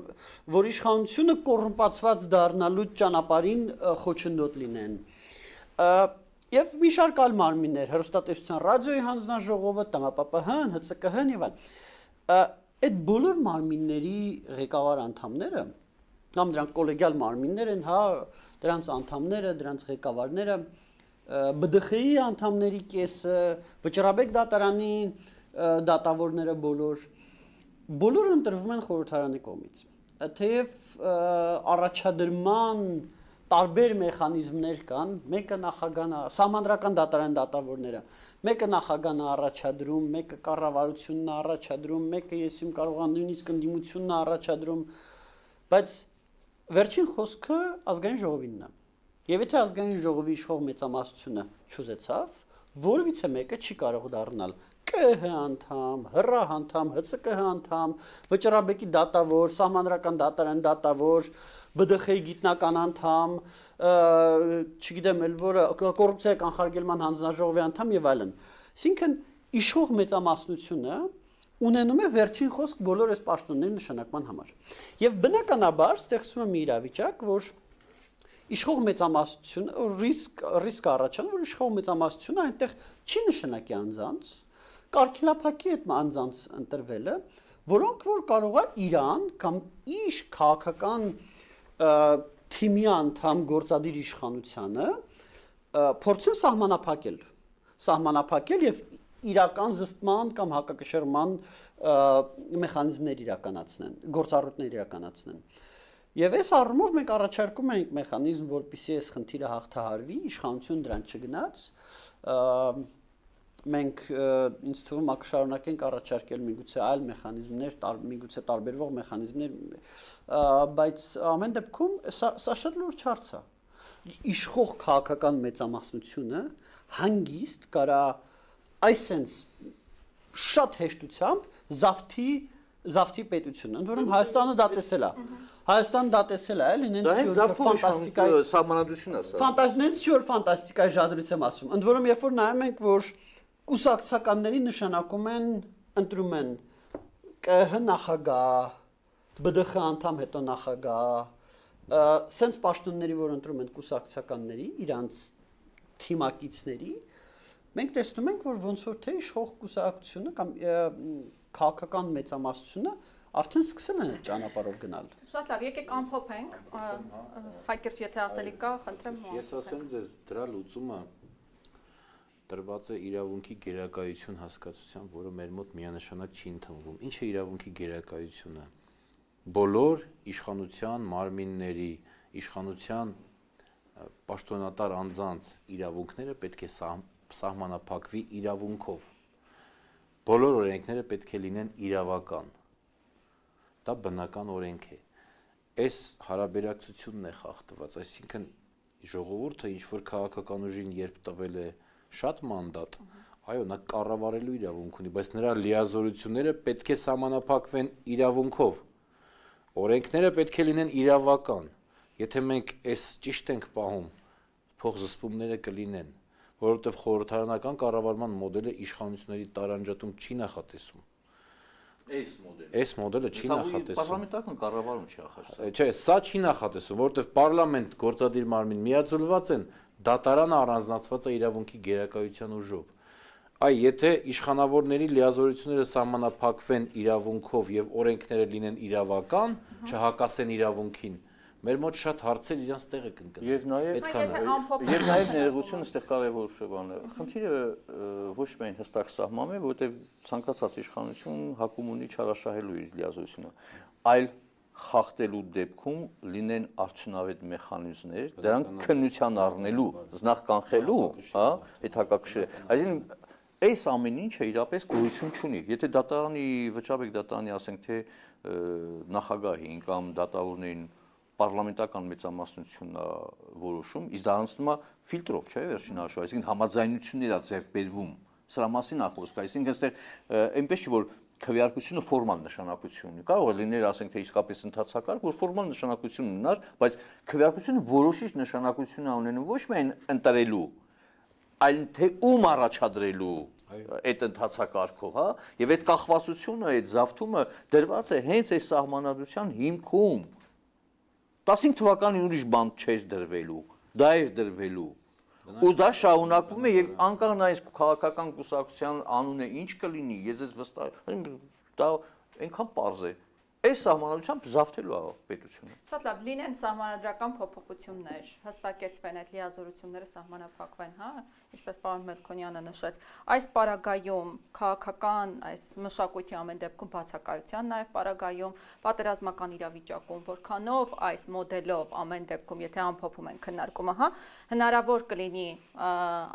որ իշխանությունը կոռումպացված դառնալու ճանապարհին խոչընդոտ լինեն։ Եվ մի շարք այլ մարմիններ, հեռուստատեսության ռադիոյի հանձնաժողովը, ՏՄՊՊՀ-ն, ՀՑԿՀ-ն եւ այլն։ Այդ բոլոր մարմինների ղեկավար անդամները, կամ դրանք կոլեգիալ մարմիններ են, հա, դրանց անդամները, դրանց ղեկավարները, ԲԴԽ-ի անդամների կեսը, Վճռաբեկ դատարանի դատավորները բոլորը ընտրվում են խորհրդարանի կողմից։ Թեև առաջադրման տարբեր մեխանիզմներ կան, մեկը նախագահն է, սահմանադրական դատարան դատավորները, մեկը նախագահն է առաջադրում, մեկը կառավարությունն է առաջադրում, մեկը ես իմ կարողան նույնիսկ ընդդիմությունն է առաջադրում, բայց վերջին խոսքը ազգային ժողովինն է։ Եվ եթե ազգային ժողովի իշխող մեծամասնությունը չուզեցավ, որևիցե մեկը չի կարող դառնալ ԿՀ անդամ, ՀՌ անդամ, ՀՑԿՀ անդամ, Վճռաբեկի դատավոր, սահմանադրական դատարան դատավոր, ԲԴԽ-ի գիտնական անդամ, չգիտեմ էլ որը կոռուպցիայի կանխարգելման հանձնաժողովի անդամ եւ այլն։ Այսինքն իշխող մեծամասնությունը ունենում է վերջին խոսք բոլոր այս պաշտոնների նշանակման համար։ Եվ բնականաբար ստեղծվում է մի իրավիճակ, որ իշխող մեծամասնությունը ռիսկ առաջանում, որ իշխող մեծամասնությունը այնտեղ չի նշանակի անձանց, կարգելափակի այդ անձանց ընտրվելը, որոնք որ կարող է Իրան կամ իր քաղաքական թիմի անդամ գործադիր իշխանությանը փորձեն սահմանափակել եւ իրական զսպման կամ հակակշռման մեխանիզմներ իրականացնեն, գործառույթներ իրականացնեն։ Եվ այս առումով մենք առաջարկում ենք մեխանիզմ, որպեսզի այս խնդիրը հաղթահարվի, իշխանությունը դրան չգնաց, մենք ինձ թվում է կշարունակենք առաջարկել միգուցե այլ մեխանիզմներ, միգուցե տարբերվող մեխանիզմներ, բայց ամեն դեպքում սա շատ լուրջ հարց է։ Իշխող քաղաքական մեծամասնությունը հանգիստ կարա այսենց շատ հեշտությամբ զավթի պետությունը, ընդ որում Հայաստանը դա տեսել է։ Հայաստանը դա տեսել է, էլի, նենց ֆանտաստիկայի սահմանադրությունն է սա։ Նենց չի որ ֆանտաստիկայի ժադրույց եմ ասում։ Ընդ որում երբ որ նայում ենք, որ կուսակցականների նշանակում են ընտրում են ԿՀ նախագահ, ԲԴԽ անդամ հետո նախագահ, սենց պաշտոնների, որ ընտրում են կուսակցականների, իրանց թիմակիցների, մենք տեսնում ենք, որ ոնց որ թե իշխող կուսակցությունը կամ քաղաքական մեծամասնությունը արդեն սկսել են այդ ճանապարհով գնալ։ Շատ լավ, եկեք ամփոփենք, Հայկերտ, եթե ասելի կա, խնդրեմ։ Ես ասեմ ձեզ, դրա լուծումը տրված է իրավունքի գերակայություն հասկացությամբ, որը մեր մոտ միանշանակ չի ընդունվում։ Ինչ է իրավունքի գերակայությունը։ Բոլոր իշխանության մարմինների, իշխանության պաշտոնատար անձանց իրավունքները պետք է սահմանափակվի իրավունքով։ Բոլոր օրենքները պետք է լինեն իրավական։ դա բնական օրենք է։ Այս հարաբերակցությունն է խախտված, այսինքն ժողովուրդը ինչ որ քաղաքական ուժին երբ տվել է շատ մանդատ, այո, նա կառավարելու իրավունք ունի, բայց նրա լիազորությունները պետք է սահմանափակվեն իրավունքով։ Օրենքները պետք է լինեն իրավական։ Եթե մենք այս ճիշտ ենք պահում, փոխզսպումները կլինեն, որովհետև խորհրդարանական կառավարման մոդելը իշխանությունների տարանջատում չի նախատեսում։ Այս մոդելը չի նախատեսում։ Պարլամենտական կառավարում չի նախատեսում։ Չէ, սա չի նախատեսում, որովհետև պարլամենտ գործադիր մարմին միաձուլված են, դատարանը առանձնացված է իրավունքի գերակայության ուժով։ Այ եթե իշխանավորների լիազորությունները սահմանափակվեն իրավունքով եւ օրենքները լինեն իրավական, չհակասեն իրավունքին, մեր մոտ շատ հարցեր իրենց տեղը կընկնեն։ Եվ նաև ներողություն այստեղ կարևոր բան է։ Խնդիրը ոչ միայն հստակ սահման է, որտեղ ցանկացած իշխանություն հակում ունի չարաշահելու իր լիազորությունը, այլ խախտելու դեպքում լինեն արդյունավետ մեխանիզմներ, դրանք քննության առնելու, նախ կանխելու, հա, այդ հակակշիռը։ Այսինքն այս ամեն ինչը իրապես գոյություն չունի։ Եթե դատարանի վճարեք դատարանի ասենք թե նախագահին կամ դատավորներին պարլամենտական մեծամասնությունն է որոշում, իսկ դա անցնում է ֆիլտրով, չէ՞, վերջին հաշվով, այսինքն համաձայնություններ է ձեռք բերվում։ Սրա մասին է խոսքը, այսինքն այստեղ այնպես չի որ քվեարկությունը ֆորմալ նշանակություն ունի։ Կարող է լինել, ասենք թե իսկապես ընդհանցակարգ, որ ֆորմալ նշանակություն ունենար, բայց քվեարկությունը որոշիչ նշանակություն է ունենում ոչ միայն ընտրելու, այլ թե ում առաջադրելու այդ ընդհանցակարգով, հա, եւ այդ կախվածությունը, այդ զավթումը դրված է հենց այս սահմանադրության հիմքում։ 15 թվականին ուրիշ բան չէր դրվելու, դա էր դրվելու։ Ու դա շարունակվում է եւ անկախ նայած քաղաքական կուսակցության անունը ինչ կլինի, ես ես վստահ եմ, դա այնքան պարզ է։ Այս սահմանադրությամբ զավթելու է պետությունը։ Շատ լավ, լինեն սահմանադրական փոփոխություններ, հստակեցվեն այդ լիազորությունները սահմանափակվեն, հա, ինչպես պարոն Մելքոնյանը նշեց, այս պարագայում քաղաքական այս մշակույթի ամեն դեպքում բացակայության, նաև պարագայում պատերազմական իրավիճակում, որքանով այս մոդելով ամեն դեպքում, եթե ամփոփում են քննարկումը, հա, հնարավոր կլինի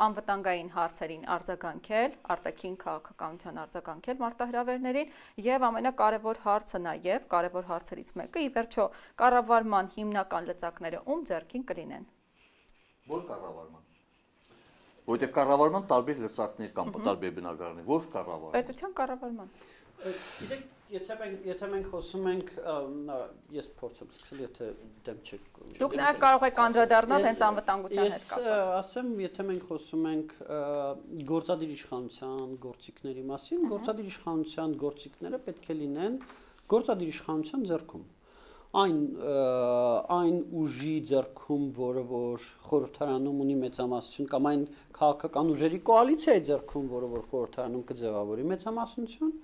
անվտանգային հարցերին արձագանքել, արտաքին քաղաքականության արձագանքել մարտահրավերներին եւ ամենակարևոր հարցը նաև կարևոր հարցերից մեկը ի վերջո կառավարման հիմնական լծակները ում ձեռքին կլինեն։ Որ կառավարման։ Որտեղ կառավարման տարբեր լծակներ կան, տարբեր բնակարաններ, որ կառավարման։ Պետության կառավարման։ Գիտեք, եթե մենք խոսում ենք, ես փորձում սկսել, եթե դեմ չեք։ Դուք նաև կարող եք անդրադառնալ հենց անվտանգության հետ կապված։ Ես ասեմ, եթե մենք խոսում ենք գործադիր իշխանության գործիքների մասին, գործադիր իշխանության գործիքները պետք է լինեն գործադիր իշխանության ձեռքում։ Այն ուժի ձեռքում, որը որ խորհրդարանում ունի մեծամասնություն, կամ այն քաղաքական ուժերի կոալիցիայի ձեռքում, որը որ խորհրդարանում կձևավորի մեծամասնություն,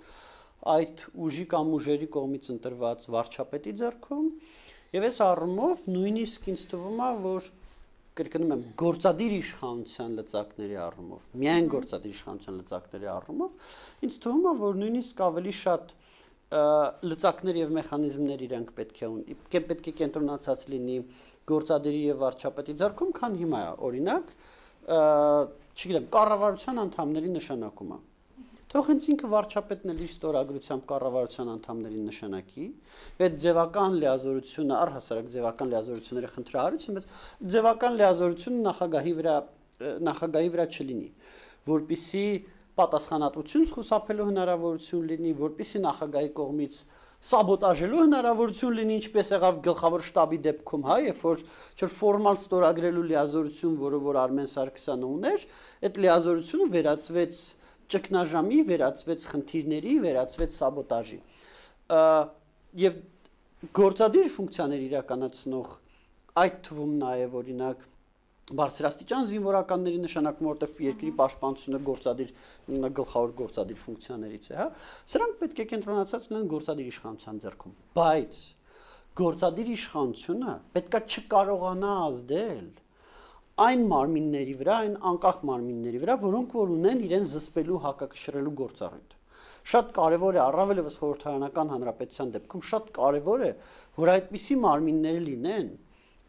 այդ ուժի կամ ուժերի կողմից ընտրված վարչապետի ձեռքում, եւ այս առումով նույնիսկ ինձ թվում է, որ կրկնում եմ, գործադիր իշխանության լծակների առումով, միայն գործադիր իշխանության լծակների առումով, ինձ թվում է, որ նույնիսկ ավելի շատ լծակներ եւ մեխանիզմներ իրենք պետք է կենտրոնացած լինի գործադիրի եւ վարչապետի ձեռքում, քան հիմա է, օրինակ, չգիտեմ, կառավարության անդամների նշանակումը։ Թող հենց ինքը վարչապետն էլ իր ստորագրությամբ կառավարության անդամների նշանակի, այդ ձևական լիազորությունը, առհասարակ ձևական լիազորությունները խնդրահարույց են, բայց ձևական լիազորությունը նախագահի վրա չլինի, որպեսզի պատասխանատվություն խուսափելու հնարավորություն լինի, որպեսզի նախագահի կողմից սաբոտաժելու հնարավորություն լինի, ինչպես եղավ գլխավոր շտաբի դեպքում, հա, երբ որ ֆորմալ ստորագրելու լիազորություն, որը որ Արմեն Սարգսյանը ուներ, այդ լիազորությունը վերածվեց ճգնաժամի, վերածվեց խնդիրների, վերածվեց սաբոտաժի։ Եվ գործադիր ֆունկցիաներ իրականացնող այդ թվում նաև օրինակ բարձրաստիճան զինվորականների նշանակում, որտեղ երկրի պաշտպանությունը գլխավոր գործադիր ֆունկցիաներից է, հա, սրանք պետք է կենտրոնացած լինեն գործադիր իշխանության ձեռքում, բայց գործադիր իշխանությունը պետքա չկարողանա ազդել այն մարմինների վրա, այն անկախ մարմինների վրա, որոնք որ ունեն իրեն զսպելու, հակակշռելու գործառույթ։ Շատ կարևոր է, առավել ևս խորհրդարանական հանրապետության դեպքում շատ կարևոր է, որ այդպիսի մարմիններ լինեն,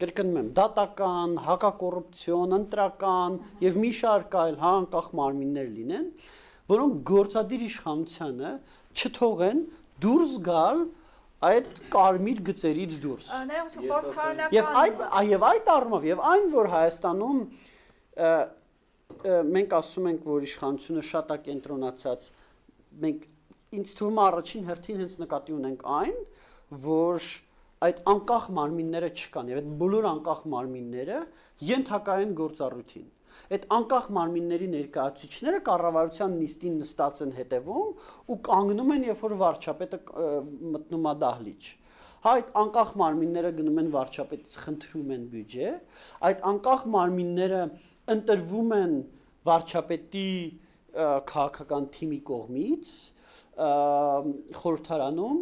կրկնում եմ, դատական, հակակոռուպցիոն, ընտրական եւ մի շարք այլ անկախ մարմիններ լինեն, որոնք գործադիր իշխանությանը չթողեն դուրս գալ այդ կարմիր գծերից դուրս։ Ներողություն, խորհրդարանական Եվ այդ առումով եւ այն որ Հայաստանում մենք ասում ենք, որ իշխանությունը շատ է կենտրոնացած, մենք ինձ թվում է առաջին հերթին հենց նկատի ունենք այն, որ այդ անկախ մարմինները չկան եւ այդ բոլոր անկախ մարմինները ենթակա են գործառույթին։ Այդ անկախ մարմինների ներկայացուցիչները կառավարության նիստին նստած են հետևում ու կանգնում են, երբ որ վարչապետը մտնում է դահլիճ։ Այդ անկախ մարմինները գնում են վարչապետից խնդրում են բյուջե, այդ անկախ մարմինները ընտրվում են վարչապետի քաղաքական թիմի կողմից խորհրդարանում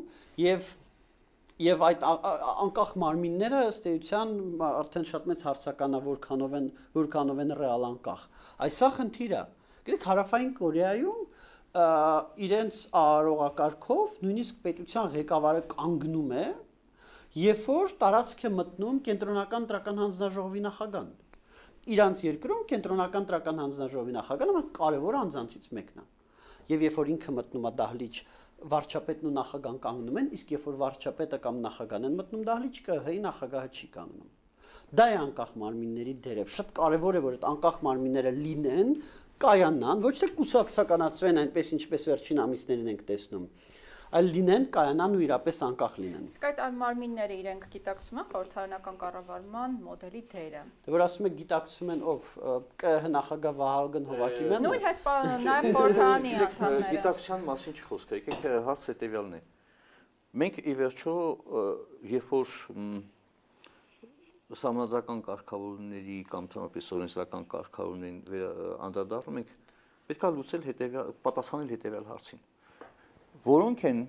եւ այդ անկախ մարմինները ըստ էության արդեն շատ մեծ հարցականա որքանով են ռեալ անկախ։ Այսա խնդիրը։ Գիտեք, Հարավային Կորեայում իրենց արարողակարգով նույնիսկ պետության ղեկավարը կանգնում է, երբ որ տարածք է մտնում կենտրոնական տրական հանձնաժողովի նախագահան։ Իրանց երկրում կենտրոնական տրական հանձնաժողովի նախագահը կարևոր անձանցից մեկն է։ Եվ երբ որ ինքը մտնում է դահլիճ, վարչապետն ու նախագահան կանգնում են, իսկ երբ որ վարչապետը կամ նախագահան են մտնում դահլիճ, ԿՀ-ի նախագահը չի կանգնում։ Դա է անկախ մարմինների դերև։ Շատ կարևոր է, որ այդ անկախ մարմինները լինեն, կայանան, ոչ թե կուսակցականացվեն այնպես, ինչպես վերջին ամիսներին ենք տեսնում, այլ լինեն, կայանան ու իրապես անկախ լինեն։ Իսկ այդ մարմինները իրենք գիտակցում են խորհրդարանական կառավարման մոդելի դերը։ Դե որ ասում եք գիտակցում են ով, ԿՀ նախագահ Վահագն Հովակիմյանը։ Նույն հենց նաև խորհրդարանի անդամները։ Գիտակցության մասին չխոսք, եկեք հարց հետևյալն է։ Մենք ի վերջո, երբ որ սահմանադրական կարգավորումների կամ թվապես օրենսդրական կարգավորումներին անդրադառնում ենք, պետք է լուծել պատասխանել հետևյալ հարցին։ Որոնք են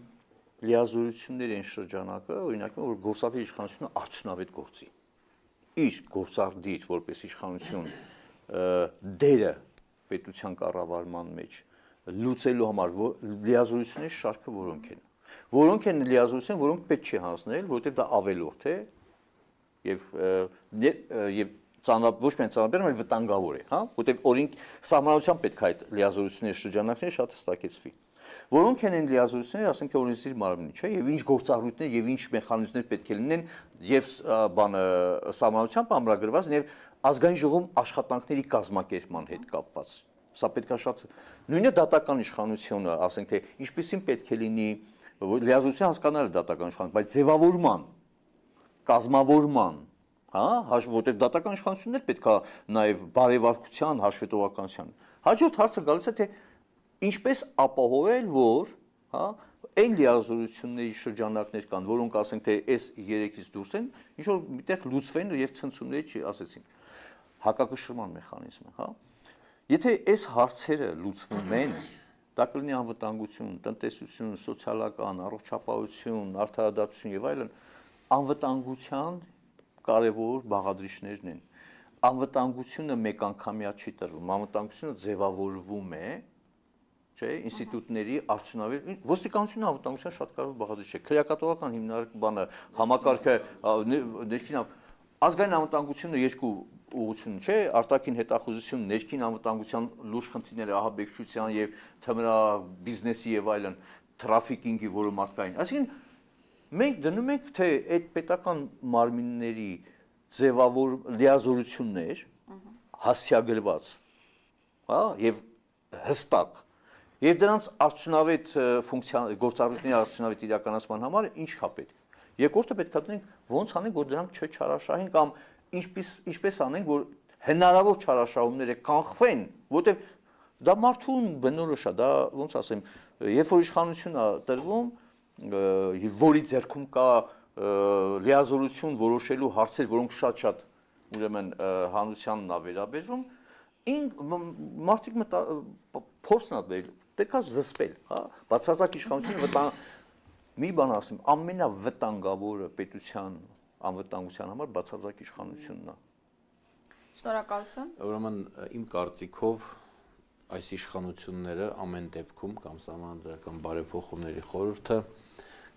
լիազորությունների են շրջանակը, օրինակ, որ գործադիր իշխանությունը արդյունավետ գործի։ Իր գործադիր որպես իշխանություն դերը պետության կառավարման մեջ լուծելու համար լիազորությունների շարքը որոնք են։ Որոնք են լիազորությունները, որոնք պետք չի հանձնել, որովհետև դա ավելորդ է եւ ոչ միայն ծանրաբեռ, այլ վտանգավոր է, հա, որովհետև օրենք սահմանության պետք է այդ լիազորությունների շրջանակները շատ հստակեցվի։ Որոնք են լիազորությունները, ասենք օրենսդիր մարմնի, չէ, եւ ինչ գործառույթներ եւ ինչ մեխանիզմներ պետք է լինեն եւ բանը սահմանությամբ ամրագրված եւ ազգային ժողովում աշխատանքների կազմակերպման հետ կապված։ Սա պետք է շատ նույնը դատական իշխանությունը, ասենք թե ինչպեսին պետք է լինի լիազորություն հասկանալը դատական իշխանություն, բայց ձևավորման, կազմավորման, հա, որտեղ դատական իշխանություններ պետք է նաեւ բարեվարկության, հաշվետվականության։ Հաջորդ հարցը գալիս է թե ինչպես ապահովել, որ, հա, այն լիազորությունների շրջանակներ կան, որոնք ասենք թե այս 3-ից դուրս են, ինչ որ միտեղ լուծվեն եւ ցնցումների ասեցինք։ Հակակշռման մեխանիզմը, հա։ Եթե այս հարցերը լուծվում են, դա կլինի անվտանգություն, տնտեսություն, սոցիալական, առողջապահություն, արդարադատություն եւ այլն, անվտանգության կարևոր բաղադրիչներն են։ Անվտանգությունը մեկ անգամյա չի տրվում, անվտանգությունը ձևավորվում է, չէ, ինստիտուտների արդյունավետ ոստիկանությունը անվտանգության շատ կարևոր բաղադրիչ է։ Քրեակատողական հիմնարկը համակարգը ներքին ազգային անվտանգությունը երկու ուղղություն չէ, արտաքին հետախուզություն, ներքին անվտանգության լուրջ խնդիրները ահաբեկչության եւ թմրա բիզնեսի եւ այլն, թրաֆիկինգի, որը մարդկային։ Այսինքն մենք դնում ենք թե այդ պետական մարմինների ձևավոր լիազորություններ հասցեագրված, հա, եւ հստակ եւ դրանց արդյունավետ գործառույթների արդյունավետ իրականացման համար ինչ կա պետք։ Երկրորդը պետք է դնենք ոնց անենք, որ դրանք չչարաշահեն կամ ինչպես անենք, որ հնարավոր չարաշահումները կանխվեն, որովհետեւ դա մարդու բնորոշ է, դա ոնց ասեմ, երբ որ իշխանություն է տրվում, որի ձեռքում կա լիազորություն որոշելու հարցեր, որոնք շատ ուրեմն հանրությանն է վերաբերվում, մարդիկ փորձն է դել, պետք է զսպել, հա, բացարձակ իշխանությունը մի բան ասեմ, ամենավտանգավորը պետության անվտանգության համար բացարձակ իշխանությունն է։ Շնորհակալություն։ Ուրեմն իմ կարծիքով այս իշխանությունները ամեն դեպքում կամ սահմանադրական բարեփոխումների խորհուրդը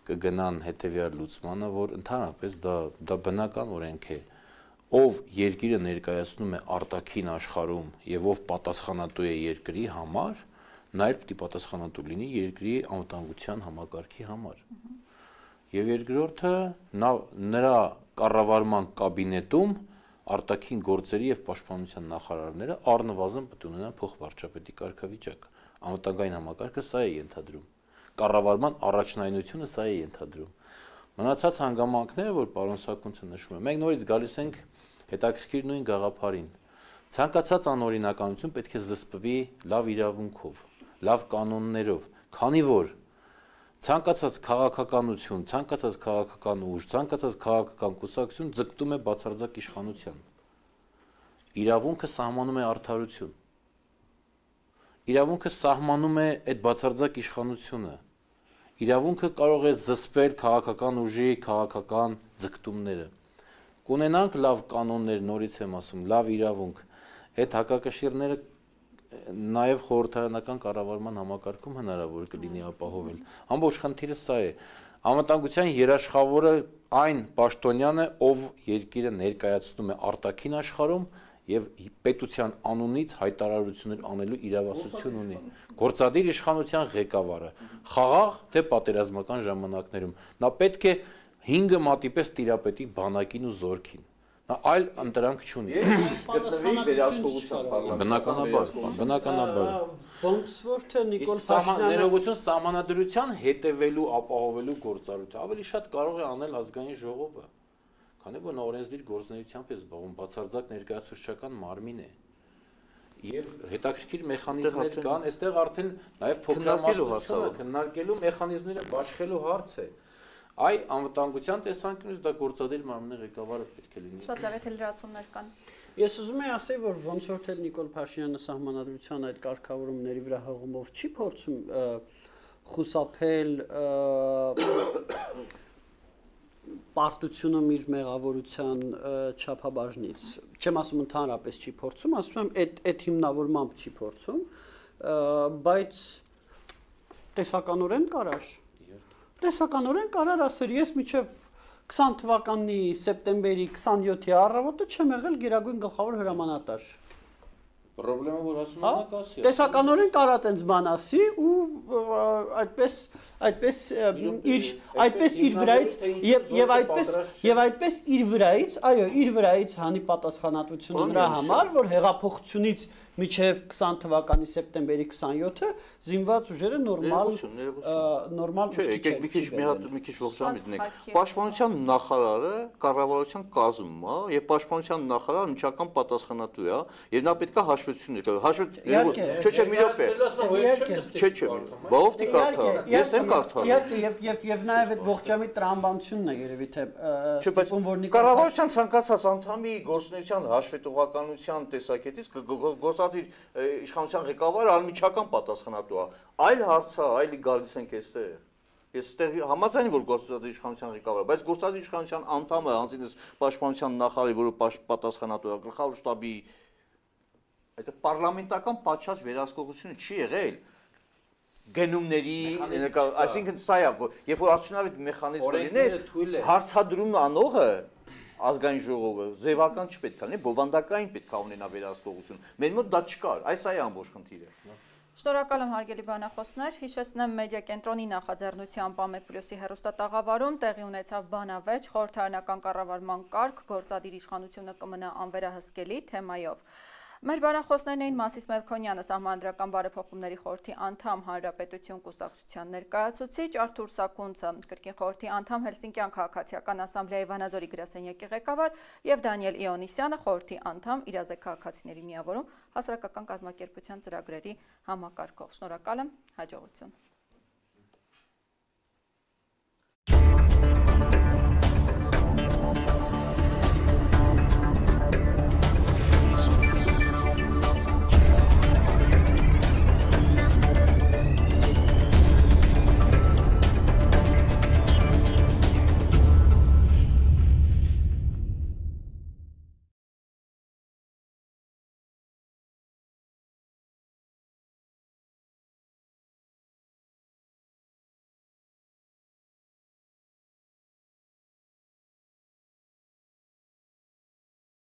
կգնան հետևյալ լուծմանը, որ ընդհանրապես դա բնական օրենք է, ով երկիրը ներկայացնում է արտաքին աշխարհում եւ ով պատասխանատու է երկրի համար, նա էլ պիտի պատասխանատու լինի երկրի անվտանգության համակարգի համար։ եւ երկրորդը նրա կառավարման կաբինետում արտաքին գործերի եւ պաշտպանության նախարարները առնվազն պետք է ունենան փոխվարչապետի կարգավիճակ։ Անվտանգային համակարգը սա է ենթադրում։ Կառավարման առաջնայնությունը սա է ենթադրում։ Մնացած հանգամանքները, որ պարոն Սաքունցը նշում է, մենք նորից գալիս ենք հետաքրքիր նույն գաղափարին։ Ցանկացած անօրինականություն պետք է զսպվի լավ իրավունքով, լավ կանոններով, քանի որ ցանկացած քաղաքականություն, ցանկացած քաղաքական ուժ, ցանկացած քաղաքական կուսակցություն ձգտում է բացարձակ իշխանության։ Իրավունքը սահմանում է արդարություն։ Իրավունքը սահմանում է այդ բացարձակ իշխանությունը։ Իրավունքը կարող է զսպել քաղաքական ուժի քաղաքական ձգտումները։ Կունենանք լավ կանոններ, նորից եմ ասում, լավ իրավունք, այդ հակակշիռները նաև խորհրդարանական կառավարման համակարգում հնարավոր կլինի ապահովել։ Ամբողջ խնդիրը սա է։ Անվտանգության երաշխավորը այն պաշտոնյանը, ով երկիրը ներկայացնում է արտաքին աշխարհում եւ պետության անունից հայտարարություններ անելու իրավասություն ունի։ Գործադիր իշխանության ղեկավարը խաղաղ թե պատերազմական ժամանակներում նա պետք է 5 մատի պես տիրապետի բանակին ու զորքին։ Նա այլ ընտրանք չունի։ Գտնվի վերահսկողության պարլամենտ։ Բնականաբար։ Ոնց որ թե Նիկոլ Փաշինյանը ներողություն սահմանադրության հետևելու ապահովելու գործառույթը ավելի շատ կարող է անել ազգային ժողովը, քանի որ նա օրենսդիր գործունեությամբ է զբաղվում, բացարձակ ներկայացուցչական մարմին է։ Եվ հետաքրքիր մեխանիզմներ կան, այստեղ արդեն նաև փոքրամասնությունը քննարկելու մեխանիզմները բաշխելու հարց է։ Այ անվտանգության տեսանկյունից դա գործադիր մարմնի ղեկավարը պետք է լինի։ Շատ լավ է, թե լրացումներ կան։ Ես ուզում եմ ասել, որ ոնց որ թե Նիկոլ Փաշինյանը սահմանադրության այդ կարգավորումների վրա հղումով չի փորձում խուսափել պարտությունում իր մեղավորության չափաբաժնից։ Չեմ ասում ընդհանրապես չի փորձում, ասում եմ այդ հիմնավորմամբ չի փորձում, բայց տեսականորեն կարար։ Տեսականորեն կարար ասել, ես մինչև 20 թվականի սեպտեմբերի 27-ի առավոտը չեմ եղել Գերագույն գլխավոր հրամանատար։ Պրոբլեմը որ ասում եք ասի։ Տեսականորեն կարա տենց բան ասի ու այդպես իր վրայից եւ այդպես իր վրայից, այո, իր վրայից հանի պատասխանատվությունը նրա համար, որ հեղափոխությունից մինչև 20 թվականի սեպտեմբերի 27-ը զինված ուժերը նորմալ եկեք մի քիչ ողջամիտ ունենք։ Պաշտպանության նախարարը կառավարության կազմում է եւ պաշտպանության նախարարը միջական պատասխանատու է եւ նա պետք է հաշվություններ չէ, մի րոպե։ Չէ, բաղով դի կարթա։ Ես եմ կարթա։ Եվ նաեւ այդ ողջամիտ տրամաբանությունն է երևի թե ստիպում որ կառավարության ցանկացած անդամի գործունեության հաշվետվականության տեսակետից գործադիր իշխանության ղեկավարը անմիջական պատասխանատու է։ Այլ հարց է, այլի գալիս ենք այստեղ։ Ես այստեղ համաձայն եմ որ գործադիր իշխանության ղեկավարը, բայց գործադիր իշխանության անդամը անձինս պաշտպանության նախարարի, որը պատասխանատու է գլխավոր շտաբի, այդ պարլամենտական պատշաճ վերահսկողությունը չի եղել գնումների, այսինքն սա է, երբ որ արդյունավետ մեխանիզմ լինի, հարցադրում անողը ազգային ժողովը ձևական չպետք է լինի, բովանդակային պետք է ունենա վերահսկողություն։ Մեր մոտ դա չկար, այս է ամբողջ խնդիրը։ Շնորհակալ եմ հարգելի բանախոսներ, հիշեցնեմ մեդիա կենտրոնի նախաձեռնությամբ Ամեկ+-ի հեռուստատաղավարում տեղի ունեցավ բանավեճ խորհրդարանական կառավարման կարգ, գործադիր իշխանությունը կմնա անվերահսկելի թեմայով։ Մեր բանախոսներն էին Մասիս Մելքոնյանը, Սահմանադրական բարեփոխումների խորհրդի անդամ, Հանրապետություն կուսակցության ներկայացուցիչ, Արթուր Սաքունցը, կրկին խորհրդի անդամ, Հելսինկյան քաղաքացիական ասամբլեայի Վանաձորի գրասենյակի ղեկավար եւ Դանիել Իոնիսյանը, խորհրդի անդամ, Իրազեկ քաղաքացիների միավորում հասարակական կազմակերպության ծրագրերի համակարգող։ Շնորհակալ եմ, հաջողություն։